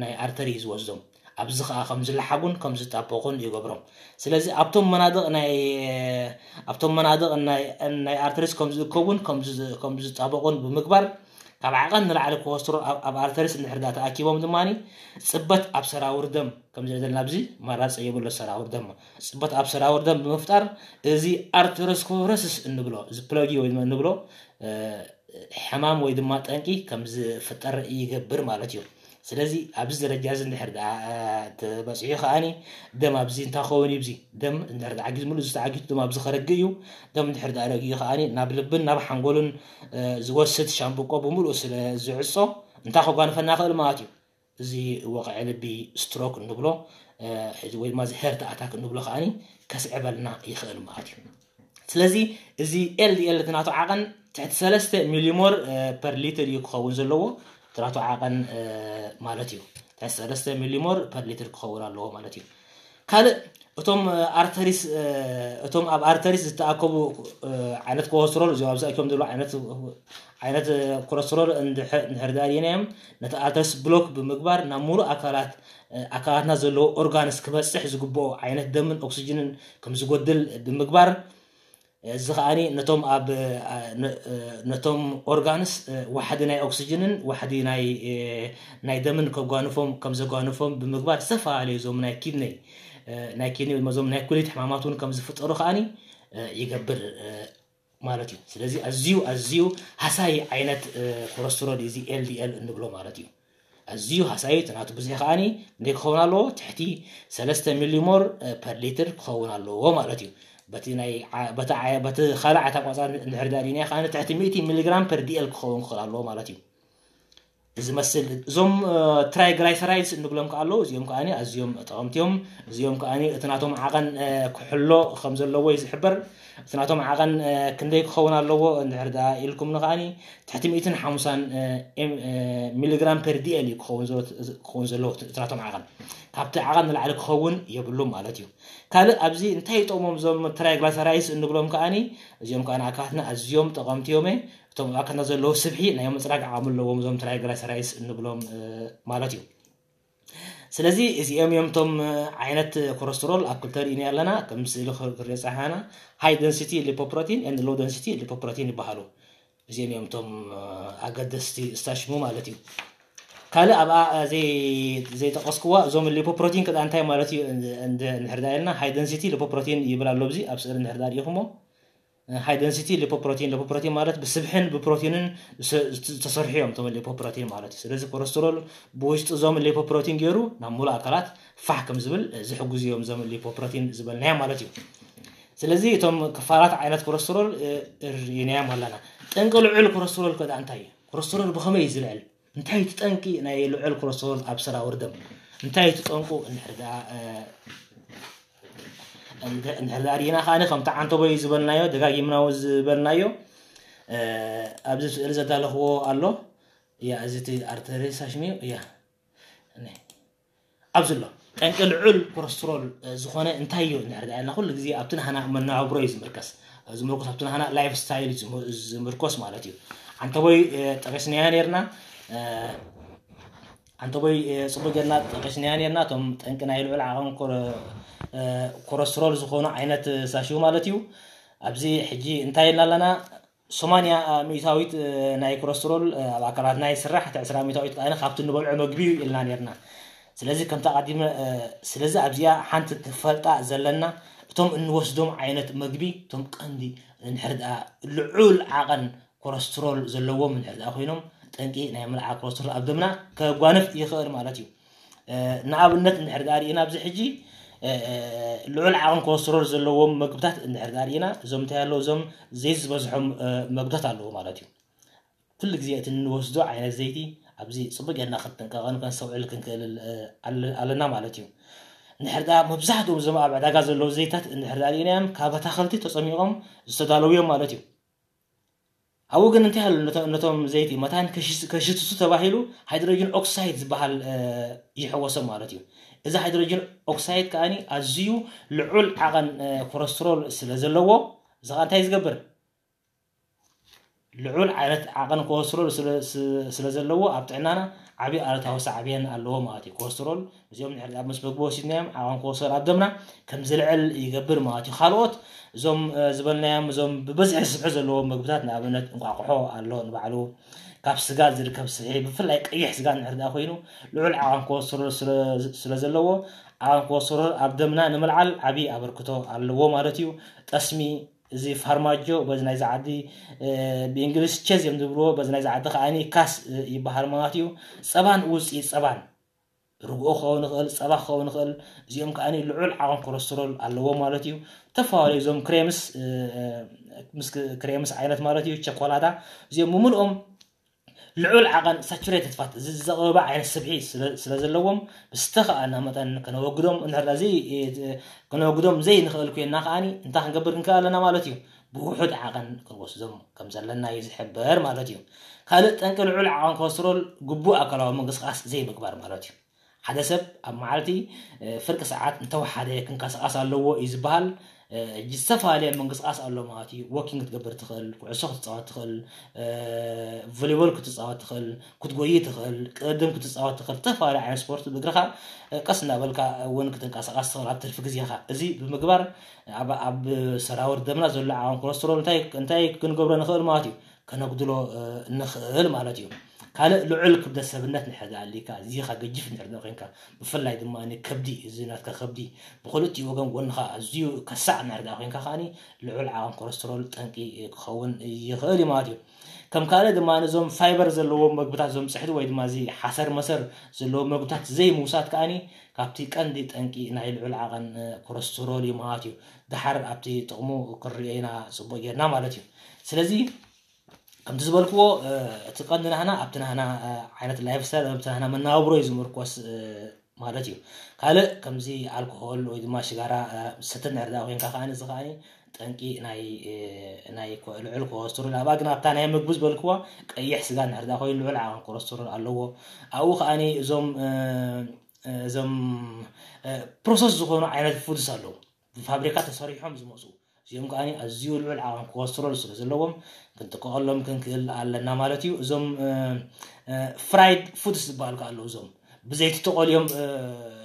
ናይ ኣርተሪ ዝወስዶም። ኣብዚ ከዓ ከም ዝለሓጉን ከም ዝጣበቑን ይገብሮም። ስለዚ ኣብቶም መናድቕ ናይ ኣብቶም መናድቕ ናይ ኣርተሪስ ከም ዝእከቡን ከም ዝጣበቑን ብምግባር፣ ካብ ዓቐን ንላዕሊ ኮለስትሮል ኣብ ኣርተሪስ እንድሕር ዳ ተኣኪቦም ድማ፣ ፅበት ኣብ ሰራውር ደም ከም ዘለና ኣብዚ ማራፀ የብሎ ሰራውር ደም ፅበት ኣብ ሰራውር ደም ብምፍጣር፣ እዚ ኣርተሮስኮረስስ እንብሎ እዚ ፕለጊ ወይ እንብሎ ሕማም ወይ ድማ ጠንቂ ከም ዝፍጠር ይገብር ማለት እዩ። ስለዚ ኣብዚ ደረጃ እዚ እንድሕር ደኣ ተበፂሑ ከዓኒ፣ ደም ኣብዚ እንታይ ክኸውን እዩ? እዚ ደም እንድሕር ደኣ ዓጊዙ፣ ሙሉእ ዝተዓጊቱ ደም ኣብዚ ከረግእ እዩ። ደም እንድሕር ደኣ ረጊኡ ከዓኒ ናብ ልብን ናብ ሓንጎልን ዝወስድ ሻምብቆ ብምሉእ ስለ ዝዕጾ እንታይ ከጓንፈና ይኽእል ማለት እዩ? እዚ ወቕዒ ልቢ፣ ስትሮክ እንብሎ ወይ ድማ እዚ ሄርት ኣታክ እንብሎ ከዓኒ ከስዕበልና ይኽእል ማለት እዩ። ስለዚ እዚ ኤልዲኤል እቲ ናቱ ዓቐን ትሕቲ ሰለስተ ሚሊሞር ፐር ሊትር እዩ ክኸውን ዘለዎ፣ እቲ ናቱ ዓቐን ማለት እዩ። ትሕቲ ሰለስተ ሚሊሞር ፐር ሊትር ክኸውን ኣለዎ ማለት እዩ። ካልእ እቶም ኣርተሪስ እቶም ኣብ ኣርተሪስ ዝተኣከቡ ዓይነት ኮለስትሮል እዚኦም ኣብዚ ኣኪቦም ዘለዉ ዓይነት ኮለስትሮል እንድሕር ዳኣ ርኢናዮም፣ ነቲ ኣርተሪስ ብሎክ ብምግባር ናብ ሙሉእ ኣካላት ኣካላትና ዘለዎ ኦርጋንስ ክበፅሕ ዝግብኦ ዓይነት ደምን ኦክስጅንን ከም ዝጎድል ብምግባር፣ እዚ ከዓኒ ነቶም ኣብ ነቶም ኦርጋንስ ዋሕዲ ናይ ኦክስጅንን ዋሕዲ ናይ ናይ ደምን ከጓንፎም ከም ዘጓንፎም ብምግባር፣ ዝተፈላለዩ እዞም ናይ ኪድነይ ናይ ኪድኒ ወይ እዞም ናይ ኩሊት ሕማማት እውን ከም ዝፍጠሩ ከዓኒ ይገብር ማለት እዩ። ስለዚ ኣዝዩ ኣዝዩ ሃሳይ ዓይነት ኮለስትሮል እዚ ኤልዲኤል እንብሎ ማለት እዩ። ኣዝዩ ሃሳዩ እቲ ናቱ ብዝሒ ከዓኒ እንታይ ክኸውን ኣለዎ? ትሕቲ ሰለስተ ሚሊሞር ፐር ሊትር ክኸውን ኣለዎ ማለት እዩ። በቲ ናይ በቲ ካልእ ዓይነት ኣቋፃር እንድሕር ዳኣ ርኢናዮ ከዓኒ ትሕቲ ሚእቲ ሚሊግራም ፐር ዲኤል ክኸውን ክኽእል ኣለዎ ማለት እዩ። ዝመስል እዞም ትራይግላይሰራይድስ እንብሎም ከዓ ኣለዉ። እዚኦም ከዓኒ ኣዝዮም ጠቐምቲ እዮም። እዚኦም ከዓኒ እቲ ናቶም ዓቐን ክሕሎ ከም ዘለዎ እዩ ዝሕበር። እቲ ናቶም ዓቐን ክንደይ ክኸውን ኣለዎ እንድሕር ደኣ ኢልኩም ንከዓኒ ትሕቲ ሚእትን ሓሙሳን ሚሊግራም ፐር ዲኤል እዩ ክኸውን ክኸውን ዘለዎ እቲ ናቶም ዓቐን። ካብቲ ዓቐን ንላዕሊ ክኸውን የብሉን ማለት እዩ። ካልእ ኣብዚ እንታይ ይጠቕሞም እዞም ትራይግላይሰራይድስ እንብሎም ከዓኒ፣ እዚኦም ከዓኒ ኣካላትና ኣዝዮም ጠቐምቲ እዮም። እቶም ኣካላትና ዘለዉ ስብሒ ናይ ምፅራግ ዓቕሚ ኣለዎም እዞም ትራይግላይሰራይድስ እንብሎም ማለት እዩ። ስለዚ እዚኦም እዮም እቶም ዓይነት ኮለስትሮል ኣብ ክልተ ርኢና ኣለና። ከም ስእሊ ክሪኦ ፀሓና ሃይ ደንሲቲ ሊፖፕሮቲን ኤንድ ሎው ደንሲቲ ሊፖፕሮቲን ይበሃሉ። እዚኦም እዮም እቶም ኣገደስቲ ስታሽሙ ማለት እዩ። ካልእ ኣብኣ ዘይጠቀስክዋ እዞም ሊፖፕሮቲን ከኣ እንታይ ማለት እዩ እንድሕር ዳ ኢልና ሃይ ደንሲቲ ሊፖፕሮቲን ይብል ኣሎ ኣብዚ ኣብ ስእሊ እንድሕር ዳ ርኢኹሞ ሃይ ደንሲቲ ሊፖፕሮቲን ሊፖፕሮቲን ማለት ብስብሕን ብፕሮቲንን ዝተሰርሑ እዮም እቶም ሊፖፕሮቲን ማለት እዩ። ስለዚ ኮለስትሮል ብውሽጢ እዞም ሊፖፕሮቲን ገይሩ ናብ ሙሉእ ኣካላት ፋሕ ከም ዝብል ዝሕግዙ እዮም እዞም ሊፖፕሮቲን ዝበልናዮም ማለት እዩ። ስለዚ እቶም ክፋላት ዓይነት ኮለስትሮል ርኢናዮም ኣለና። ጠንቂ ልዑል ኮለስትሮል ከ እንታይ እዩ? ኮለስትሮል ብኸመይ እዩ ዝልዕል? እንታይ እቲ ጠንቂ ናይ ልዑል ኮለስትሮል ኣብ ሰራውር ደም? እንታይ እቲ ጠንቁ እንድሕር ደኣ እንድሕር ደኣ ርኢና ከዓኒ ከምቲ ዓንተቦይ ዝበልናዮ ደጋጊምና ዝበልናዮ ኣብዚ ስእሊ ዘዳለኽዎ ኣሎ። እያ እዚ እቲ ኣርተሪ ሳሽሚዮ እያ። ኣብዚ ኣሎ ጠንቂ ልዑል ኮለስትሮል ዝኾነ እንታይ እዩ እንድሕር ደኣ ኢልና ኩሉ ግዜ ኣብቲ ናህና መነባብሮ እዩ ዝምርከስ። ዝምርኮስ ኣብቲ ናህና ላይፍ ስታይል እዩ ዝምርኮስ ማለት እዩ። ዓንተቦይ ጠቂስናዮ ነርና። ዓንተቦይ ፅቡቅ ጌርና ጠቂስናዮ ነርና እቶም ጠንቂ ናይ ልዑል ዓቐን ኮለስትሮል ዝኾኑ ዓይነት ሳሽው ማለት እዩ። ኣብዚ ሕጂ እንታይ ኢልና ኣለና? ሰማንያ ሚእታዊት ናይ ኮለስትሮል ኣብ ኣካላትና ይስራሕ፣ እቲ ዕስራ ሚእታዊት ከኣ ካብቲ እንበልዖ መግቢ እዩ ኢልና ነርና። ስለዚ ከምቲ ኣቐዲመ ስለዚ ኣብዚኣ ሓንቲ ክፈልጣ ዘለና እቶም እንወስዶም ዓይነት መግቢ እቶም ቀንዲ እንድሕር ደኣ ልዑል ዓቐን ኮለስትሮል ዘለዎም እንድሕር ደኣ ኮይኖም ጠንቂ ናይ ምልዓል ኮለስትሮል ኣብ ደምና ከጓንፍ ይኽእል ማለት እዩ። ንኣብነት እንድሕር ደኣ ርኢና ኣብዚ ሕጂ ልዑል ዓቐን ኮለስትሮል ዘለዎም መግብታት እንድሕር ደኣ ርኢና እዞም እንታይ ኣለዉ እዞም ዘይት ዝበዝሖም መግብታት ኣለዉ ማለት እዩ። ኩሉ ግዜ እቲ እንወስዶ ዓይነት ዘይቲ ኣብዚ ፅቡቅ ጌርና ክንጥንቀቐን ከነስተውዕል ክንክእል ኣለና ማለት እዩ። እንድሕር ደኣ መብዛሕትኦም እዞም ኣብ ዕዳጋ ዘለዉ ዘይታት እንድሕር ደኣ ርኢናዮም ካብ ኣታኽልቲ ተፀሚቖም ዝተዳለዉ እዮም ማለት እዩ። ኣብኡ ግን እንታይ ኣሎ? ነቶም ዘይት መታን ከሽትቱ ተባሂሉ ሃይድሮጅን ኦክሳይድ ዝበሃል ይሕወሶ ማለት እዩ። እዚ ሃይድሮጅን ኦክሳይድ ከዓኒ ኣዝዩ ልዑል ዓቐን ኮለስትሮል ስለ ዘለዎ፣ እዚ ከዓ እንታይ ዝገብር? ልዑል ዓይነት ዓቐን ኮለስትሮል ስለ ዘለዎ ኣብ ጥዕናና ዓብዪ ኣሉታዊ ሳዕቤን ኣለዎ ማለት እዩ። ኮለስትሮል እዚኦም ንሕርዳ ምስ ምግቢ ወሲድናዮም ዓቐን ኮለስትሮል ኣብ ደምና ከም ዝልዕል ይገብር ማለት እዩ። ካልኦት እዞም ዝበልናዮም እዞም ብብዝሒ ስብሒ ዘለዎም ምግብታት፣ ንኣብነት እንቋቑሖ ኣሎ ንባዕሉ፣ ካብ ስጋ ዝርከብ ስብሒ፣ ብፍላይ ቀይሕ ስጋ እንድሕር ደኣ ኮይኑ ልዑል ዓቐን ኮለስትሮል ስለ ዘለዎ ዓቐን ኮለስትሮል ኣብ ደምና ንምልዓል ዓብዪ ኣበርክቶ ኣለዎ ማለት እዩ። ጠስሚ፣ እዚ ፋርማጆ በዚ ናይዚ ዓዲ ብእንግሊዝ ቸዝ እዮም ዝብልዎ፣ በዚ ናይዚ ዓዲ ከዓኒ ካስ ይበሃል ማለት እዩ። ፀባን ውፅኢት ፀባን፣ ርግኦ ክኸውን ይኽእል፣ ፀባ ክኸውን ይኽእል፣ እዚኦም ከዓኒ ልዑል ዓቐን ኮለስትሮል ኣለዎ ማለት እዩ። ዝተፈላለዩ እዞም ክሬምስ ምስ ክሬምስ ዓይነት ማለት እዩ፣ ቸኮላታ፣ እዚኦም ብምልኦም ልዑል ዓቐን ሳቹሬትድ ፋት፣ እዚ ዘቕበበ ዓይነት ስብሒ ስለ ዘለዎም ብዝተኸኣልና መጠን ከነወግዶም እንድሕር እዚ ከነወግዶም ዘይንኽእል ኮይንና ከዓኒ እንታይ ክንገብር ክንክእል ኣለና ማለት እዩ? ብውሑድ ዓቐን ክንወስዶም ከም ዘለና እዩ ዝሕበር ማለት እዩ። ካልእ ጠንቂ ልዑል ዓቐን ኮለስትሮል ግቡእ ኣካላዊ ምንቅስቃስ ዘይምግባር ማለት እዩ። ሓደ ሰብ ኣብ መዓልቲ ፍርቂ ሰዓት እንተወሓደ ክንቀሳቐስ ኣለዎ እዩ ዝበሃል። እጂ ዝተፈላለየ ምንቅስቃስ ኣሎ ማለት እዩ። ወኪንግ ክትገብር ትኽእል፣ ኩዕሶ ክትፃወት ትኽእል፣ ቮሊቦል ክትፃወት ትኽእል፣ ክትጎይ ትኽእል፣ ቅድም ክትፃወት ትኽእል፣ ዝተፈላለዩ ዓይነት ስፖርት ብእግርኻ ቀስ እናበልካ እውን ክትንቀሳቐስ ትኽእል ኣብ ትርፊ ግዜኻ። እዚ ብምግባር ኣብ ሰራውር ደምና ዘሎ ዓቐን ኮለስትሮል እንታይ ክንገብሮ ንኽእል ማለት እዩ? ከነጉድሎ ንኽእል ማለት እዩ። ካልእ ልዑል ክብደት ሰብነት ንሕር ኣሊካ እዚኻ ገጅፍ ንሕር ኮይንካ፣ ብፍላይ ድማ ከብዲ፣ እዚ ናትካ ከብዲ ብክልቲኡ ወገን ጎንኻ ኣዝዩ ከሳዕ ንሕር ኮይንካ ከዓኒ ልዑል ዓቐን ኮለስትሮል ጠንቂ ክኸውን ይኽእል እዩ ማለት እዩ። ከም ካልእ ድማ ነዞም ፋይበር ዘለዎም መግብታት፣ እዞም ፅሕዲ ወይ ድማ እዚ ሓሰር መሰር ዘለዎም መግብታት ዘይምውሳድ ከዓኒ ካብቲ ቀንዲ ጠንቂ ናይ ልዑል ዓቐን ኮለስትሮል እዩ ማለት እዩ። ድሓር ኣብቲ ጥቕሙ ክንሪኦ ኢና ፅቡቅ ጌርና ማለት እዩ። ስለዚ ከምቲ ዝበልክዎ እቲ ቀንዲ ናህና ኣብቲ ናህና ዓይነት ላይፍ ስታይል፣ ኣብቲ ናህና መናብሮ እዩ ዝምርኮስ ማለት እዩ። ካልእ ከምዚ ኣልኮሆል ወይ ድማ ሽጋራ ስተ ንሕር ኮይንካ ከዓኒ እዚ ከዓኒ ጠንቂ ናይ ልዑል ኮለስትሮል ኣብኣ ግን ኣብታ ናይ ምግቢ ዝበልክዋ ቀይሕ ስጋ ንሕር ኮይኑ ልዑል ዓቐን ኮለስትሮል ኣለዎ። ኣብኡ ከዓኒ እዞም እዞም ፕሮሰስ ዝኾኑ ዓይነት ፉድስ ኣለዉ፣ ብፋብሪካ ተሰሪሖም ዝመፁ፣ እዚኦም ከዓ ኣዝዩ ልዑል ዓቐን ኮለስትሮል ስለ ዘለዎም ክንጥቀቐሎም ክንክእል ኣለና ማለት እዩ። እዞም ፍራይድ ፉድስ ዝበሃሉ ከዓ ኣለዉ፣ እዞም ብዘይቲ ተቆልዮም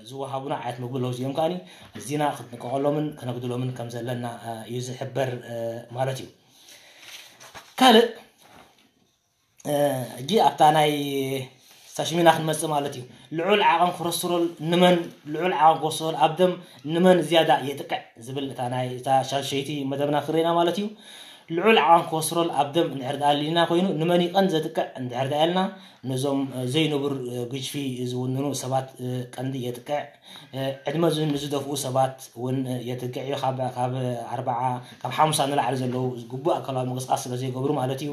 ዝወሃቡና ዓይነት ምግቢ ኣለዉ። እዚኦም ከዓ ኣዚና ክንጥቀቐሎምን ከነጉድሎምን ከም ዘለና እዩ ዝሕበር ማለት እዩ። ካልእ ሕጂ ኣብታ ናይ ሳሽሚና ክንመፅእ ማለት እዩ። ልዑል ዓቐን ኮለስትሮል ንመን፣ ልዑል ዓቐን ኮለስትሮል ኣብ ደም ንመን ዝያዳ የጥቅዕ ዝብል እታ ናይ እታ ሻሸይቲ መደብና ክርኢና ማለት እዩ። ልዑል ዓቐን ኮለስትሮል ኣብ ደም እንድሕር ደኣ ኣሊና ኮይኑ ንመን ይቐን ዘጥቅዕ እንድሕር ደኣ ኢልና ነዞም ዘይንቡር ግጅፊ ዝውንኑ ሰባት ቀንዲ የጥቅዕ። ዕድመ ንዝደፍኡ ሰባት እውን የጥቅዕ እዩ። ካብ ኣርባዓ ካብ ሓሙሳ ንላዕሊ ዘለዉ ግቡእ ኣካላዊ ምንቅስቃስ ስለ ዘይገብሩ ማለት እዩ።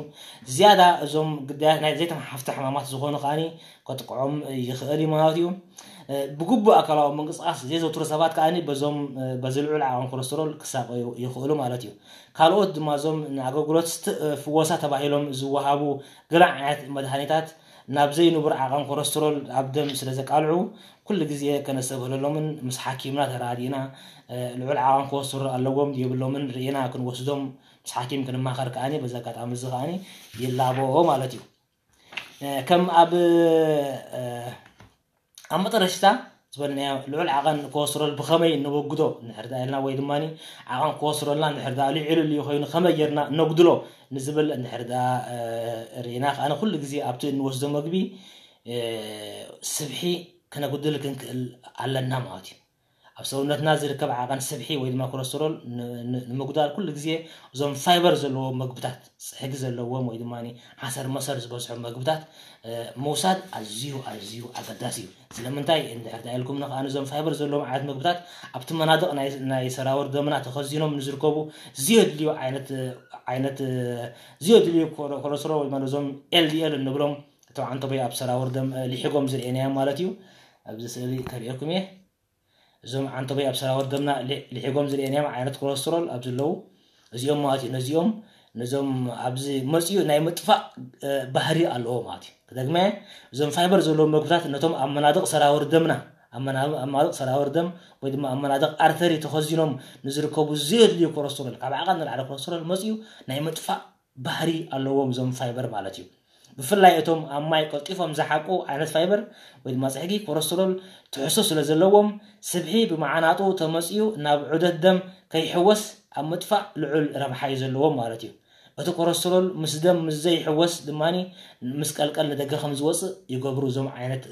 ዝያዳ እዞም ግዳያት ናይ ዘይተመሓፍተ ሕማማት ዝኾኑ ከዓኒ ከጥቅዖም ይኽእል እዩ ማለት እዩ። ብግቡእ ኣካላዊ ምንቅስቃስ ዘየዘውትሩ ሰባት ከዓኒ በዞም በዚ ልዑል ዓቐን ኮለስትሮል ክሳቀዩ ይኽእሉ ማለት እዩ። ካልኦት ድማ እዞም ንኣገልግሎት ፍወሳ ተባሂሎም ዝወሃቡ ገለ ዓይነት መድሃኒታት ናብ ዘይንቡር ዓቐን ኮለስትሮል ኣብ ደም ስለ ዘቃልዑ ኩሉ ግዜ ከነስተብህለሎምን ምስ ሓኪምና ተራዲእና ልዑል ዓቐን ኮለስትሮል ኣለዎም የብሎምን ርኢና ክንወስዶም ምስ ሓኪም ክንማኸር ከዓኒ በዚ ኣጋጣሚ እዚ ከዓኒ ይላቦ ማለት እዩ። ከም ኣብ ኣብ መጠረሽታ ዝበልናዮ ልዑል ዓቐን ኮለስትሮል ብኸመይ ነወግዶ እንድሕር ደኣ ኢልና ወይ ድማ ዓቐን ኮለስትሮልና እንድሕር ደኣ ልዒሉ ልዩ ኮይኑ ከመይ ጌርና ነጉድሎ ንዝብል እንድሕር ደኣ ርኢና ከዓኒ ኩሉ ግዜ ኣብቲ እንወስዶ መግቢ ስብሒ ከነጉድል ክንክእል ኣለና ማለት እዩ። ኣብ ሰውነትና ዝርከብ ዓቐን ስብሒ ወይ ድማ ኮለስትሮል ንምጉዳል ኩሉ ግዜ እዞም ፋይበር ዘለዎም መግብታት፣ ፅሕጊ ዘለዎም ወይ ድማ ሓሰር መሰር ዝበዝሖም መግብታት ምውሳድ ኣዝዩ ኣዝዩ ኣገዳሲ እዩ። ስለምንታይ እንድሕር ዳ ኢልኩም ንኸዓ እዞም ፋይበር ዘለዎም ዓይነት ምግብታት ኣብቲ መናድቕ ናይ ሰራውር ደምና ተኸዚኖም ንዝርከቡ ዝየድልዩ ዓይነት ዓይነት ዝየድልዩ ኮለስትሮል ወይ ድማ እዞም ኤልዲኤል እንብሎም እቶም ዓንተቦይ ኣብ ሰራውር ደም ሊሒጎም ዝርእየናዮም ማለት እዩ። ኣብዚ ስእሊ ከርእየኩም እየ። እዞም ዓንተቦይ ኣብ ሰራውር ደምና ሊሒጎም ዝርእየናዮም ዓይነት ኮለስትሮል ኣብ ዘለዉ እዚኦም ማለት እዩ። ነዚኦም ነዞም ኣብዚ መፅኡ ናይ ምጥፋእ ባህሪ ኣለዎ ማለት እዩ። ክደግመ፣ እዞም ፋይበር ዘለዎም ምግብታት ነቶም ኣብ መናድቕ ሰራውር ደምና ኣብ መናድቕ ሰራውር ደም ወይ ድማ ኣብ መናድቕ ኣርተሪ ተኸዚኖም ንዝርከቡ ዘየድልዩ ኮረስትሮል፣ ካብ ዓቐን ንላዕሊ ኮረስትሮል መፅኡ ናይ ምጥፋእ ባህሪ ኣለዎም እዞም ፋይበር ማለት እዩ። ብፍላይ እቶም ኣብ ማይ ቀልጢፎም ዝሓቁ ዓይነት ፋይበር ወይ ድማ ፅሕጊ ኮረስትሮል ትሕሶ ስለ ዘለዎም ስብሒ ብመዓናጡ ተመፅኡ ናብ ዑደት ደም ከይሕወስ ኣብ ምጥፋእ ልዑል ረብሓ እዩ ዘለዎም ማለት እዩ። እቲ ኮረስትሮል ምስ ደም ምስ ዘይሕወስ ድማ ምስ ቀልቀል ንደገ ከም ዝወፅእ ይገብሩ እዞም ዓይነት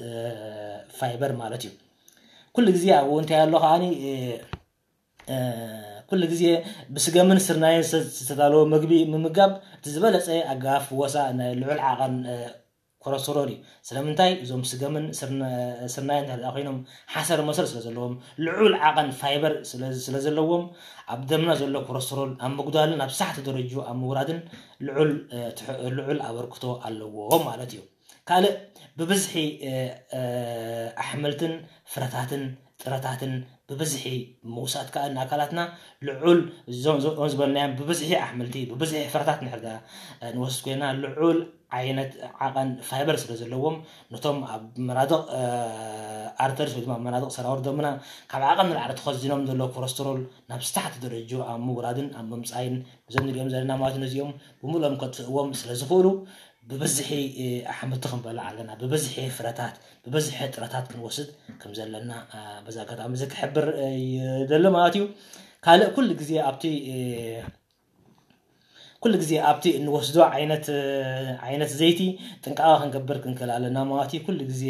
ፋይበር ማለት እዩ። ኩሉ ግዜ ኣብኡ እንታይ ኣሎ ከዓኒ ኩሉ ግዜ ብስገምን ስርናይን ዝተዳለወ ምግቢ ምምጋብ እቲ ዝበለፀ ኣገባብ ፍወሳ ናይ ልዑል ዓቐን ኮረስትሮል እዩ። ስለምንታይ? እዞም ስገምን ስርናይን እንተ ኮይኖም ሓሰር መሰል ስለ ዘለዎም ልዑል ዓቐን ፋይበር ስለ ዘለዎም ኣብ ደምና ዘሎ ኮረስትሮል ኣብ ምጉዳልን ኣብ ሳሕቲ ደረጅኡ ኣብ ምውራድን ልዑል ኣበርክቶ ኣለዎ ማለት እዩ። ካልእ ብብዝሒ ኣሕምልትን ፍረታትን ጥረታትን ብብዝሒ ምውሳድ ከኣ ንኣካላትና ልዑል እዞም ዝበልናዮም ብብዝሒ ኣሕምልቲ ብብዝሒ ፍረታት ንሕርዳ ንወስድ ኮይና ልዑል ዓይነት ዓቐን ፋይበር ስለ ዘለዎም ነቶም ኣብ መናድቕ ኣርተርስ ወይ ድማ መናድቕ ሰራውር ደምና ካብ ዓቐን ንላዕሊ ተኸዚኖም ዘለዉ ኮረስትሮል ናብ ስታሕቲ ደረጅ ኣብ ምውራድን ኣብ ምምፃይን እዞም ንሪኦም ዘለና ማለት ነዚኦም ብምሉኦም ከጥፍእዎም ስለ ዝኽእሉ ብብዝሒ ኣሕምልቲ ክንበልዕ ኣለና። ብብዝሒ ፍረታት ብብዝሒ ጥረታት ክንወስድ ከም ዘለና በዚ ኣጋጣሚ እዚ ክሕብር ይደሊ ማለት እዩ። ካልእ ኩሉ ግዜ ኣብቲ ኩሉ ግዜ ኣብቲ እንወስዶ ዓይነት ዓይነት ዘይቲ ጥንቃቐ ክንገብር ክንክእል ኣለና ማለት እዩ። ኩሉ ግዜ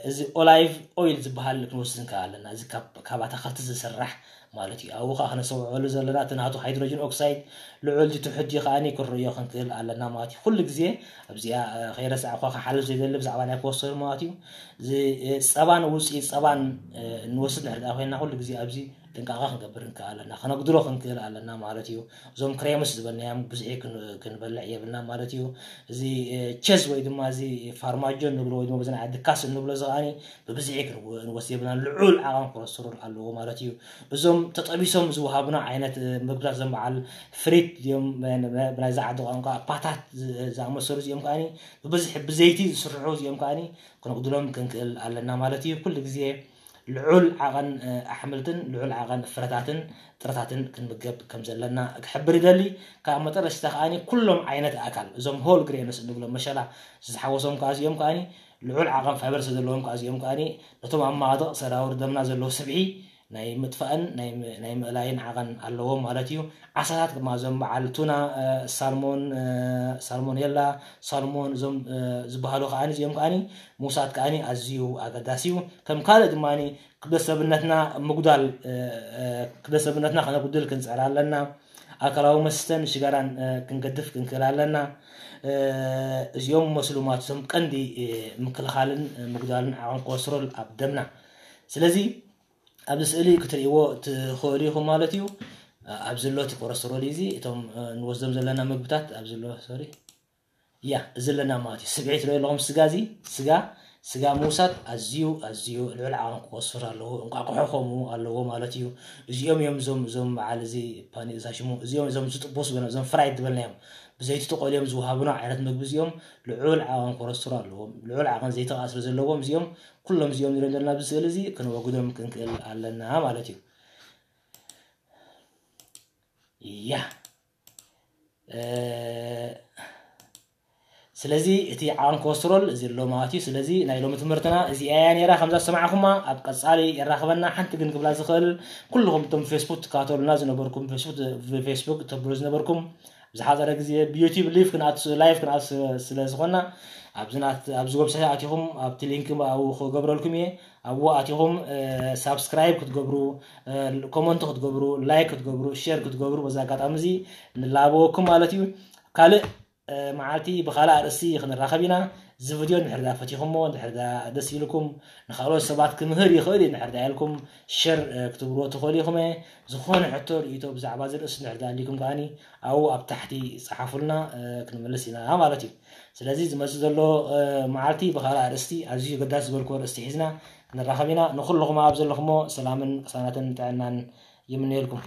እዚ ኦላይቭ ኦይል ዝበሃል ክንወስድ ንክእል ኣለና። እዚ ካብ ኣታክልቲ ዝስራሕ ማለት እዩ። ኣብኡ ከዓ ክነሰውዕሉ ዘለና እቲ ናቱ ሃይድሮጅን ኦክሳይድ ልዑል ድዩ ትሑት ድዩ ከዓኒ ክንርእዮ ክንክእል ኣለና ማለት እዩ። ኩሉ ግዜ ኣብዚኣ ከይረሳዕኳ ክሓልፍ ዘይደሊ ብዛዕባ ናይ ኮረስትሮል ማለት እዩ። እዚ ጸባን ውፅኢት ጸባን እንወስድ ንሕርዳ ኮይና ኩሉ ግዜ ኣብዚ ጥንቃቐ ክንገብር ንክእል ኣለና፣ ከነጉድሎ ክንክእል ኣለና ማለት እዩ። እዞም ክሬምስ ዝበልናዮም ብዝሒ ክንበልዕ የብልና ማለት እዩ። እዚ ቸዝ ወይ ድማ እዚ ፋርማጆ እንብሎ ወይ ድማ በዚ ናይ ዓዲ ካስ እንብሎ እዚ ከዓኒ ብብዝሒ ክንወስድ የብልና፣ ልዑል ዓቐን ኮረስትሮል ኣለዎ ማለት እዩ። እዞም ተጠቢሶም ዝወሃቡና ዓይነት ምግብታት እዞም በዓል ፍሪት ድዮም ብናይዚ ዓዲ ቋንቋ ፓታት ዝኣመሰሉ እዚኦም ከዓኒ ብብዝሒ ብዘይቲ ዝስርሑ እዚኦም ከዓኒ ክነጉድሎም ክንክእል ኣለና ማለት እዩ። ኩሉ ግዜ ልዑል ዓቐን ኣሕምልትን ልዑል ዓቐን ፍረታትን ጥረታትን ክንምገብ ከም ዘለና ክሕብር ይደሊ። ካብ መጠረሽታ ከዓኒ ኩሎም ዓይነት ኣካል እዞም ሆል ግሬንስ እንብሎም መሸላ ዝተሓወሶም ከዓ እዚኦም ከዓኒ ልዑል ዓቐን ፋይበር ስለ ዘለዎም ከዓ እዚኦም ከዓኒ ነቶም ኣብ ማዕጥቕ ሰራውር ደምና ዘለዉ ስብሒ ናይ ምጥፋእን ናይ ምእላይን ዓቐን ኣለዎም ማለት እዩ። ዓሳታት ድማ እዞም በዓል ቱና፣ ሳልሞን፣ ሳልሞኔላ፣ ሳልሞን እዞም ዝበሃሉ ከዓኒ እዚኦም ከዓኒ ምውሳድ ከዓኒ ኣዝዩ ኣገዳሲ እዩ። ከም ካልእ ድማ ክብደት ሰብነትና ምጉዳል ክብደት ሰብነትና ከነጉድል ክንፅዕር ኣለና። ኣልኮላዊ መስተን ሽጋራን ክንገድፍ ክንክእል ኣለና። እዚኦም መስሉማት እዞም ቀንዲ ምክልኻልን ምጉዳልን ዓቐን ኮለስትሮል ኣብ ደምና። ስለዚ ኣብዚ ስእሊ ክትርእይዎ ትኽእሉ ኢኹም ማለት እዩ። ኣብዚ ኣሎ እቲ ኮለስትሮል እዩ። እዚ እቶም ንወስዶም ዘለና ምግብታት ኣብዚ ኣሎ፣ ሶሪ፣ ያ እዚ ኣለና ማለት እዩ። ስብዒ ትርእዩ ኣለኹም፣ ስጋ፣ እዚ ስጋ፣ ስጋ ምውሳድ ኣዝዩ ኣዝዩ ልዑል ዓቐን ኮለስትሮል ኣለዎ። እንቋቑሖ ከምኡ ኣለዎ ማለት እዩ። እዚኦም እዮም እዞም እዞም በዓል እዚ ፓኒ እዛ ሽሙ እዚኦም እዞም ዝጥበሱ ዝበልና እዞም ፍራይድ ዝበልናዮም ብዘይቲ ተቆልዮም ዝወሃቡና ዓይነት ምግቢ እዚኦም ልዑል ዓቐን ኮለስትሮል ኣለዎም። ልዑል ዓቐን ዘይቲ ከዓ ስለ ዘለዎም እዚኦም ኩሎም እዚኦም ንሪኦም ዘለና ኣብዚ ስእሊ እዚ ክነወግዶም ክንክእል ኣለና ማለት እዩ። ያ ስለዚ እቲ ዓቐን ኮለስትሮል እዚ ኣሎ ማለት እዩ። ስለዚ ናይ ሎሚ ትምህርትና እዚኣ እያ ነይራ። ከምዛ ዝሰማዕኩማ ኣብ ቀፃሊ የራኽበና። ሓንቲ ግን ክብላ ዝኽእል ኩልኹም እቶም ፌስቡክ ትካተሉና ዝነበርኩም ፌስቡክ ፌስቡክ ተብሉ ዝነበርኩም ዝሓፀረ ግዜ ብዩቲብ ሊቭ ክንኣት ላይቭ ክንኣት ስለ ዝኾና ኣብዚ ዌብሳይት ኣቲኹም ኣብቲ ሊንክ ኣብኡ ክገብረልኩም እየ። ኣብኡ ኣቲኹም ሳብስክራይብ ክትገብሩ ኮመንት ክትገብሩ ላይክ ክትገብሩ ሼር ክትገብሩ በዚ ኣጋጣሚ እዚ ንላበወኩም ማለት እዩ። ካልእ መዓልቲ ብካልእ ኣርእስቲ ክንራኸብ ኢና። እዚ ቪድዮ እንድሕር ዳ ፈቲኹሞ እንድሕር ዳ ደስ ኢልኩም ንካልኦት ሰባት ክምህር ይኽእል እዩ እንድሕር ዳ ኢልኩም ሸር ክትብልዎ ትኽእሉ ኢኹም። ዝኾነ ሕቶ ርእይቶ ብዛዕባ እዚ ርእሲ እንድሕር ዳ ኣሊኩም ከዓኒ ኣብኡ ኣብ ታሕቲ ጸሓፉልና ክንምልስ ኢና ማለት እዩ። ስለዚ ዝመጽእ ዘሎ መዓልቲ ብካልእ ኣርእስቲ ኣዝዩ ገዳስ ዝበልክዎ ኣርእስቲ ሒዝና ክንራኸብ ኢና። ንኹልኹም ኣብ ዘለኹሞ ሰላምን ቅሳነትን ጥዕናን ይምነየልኩም።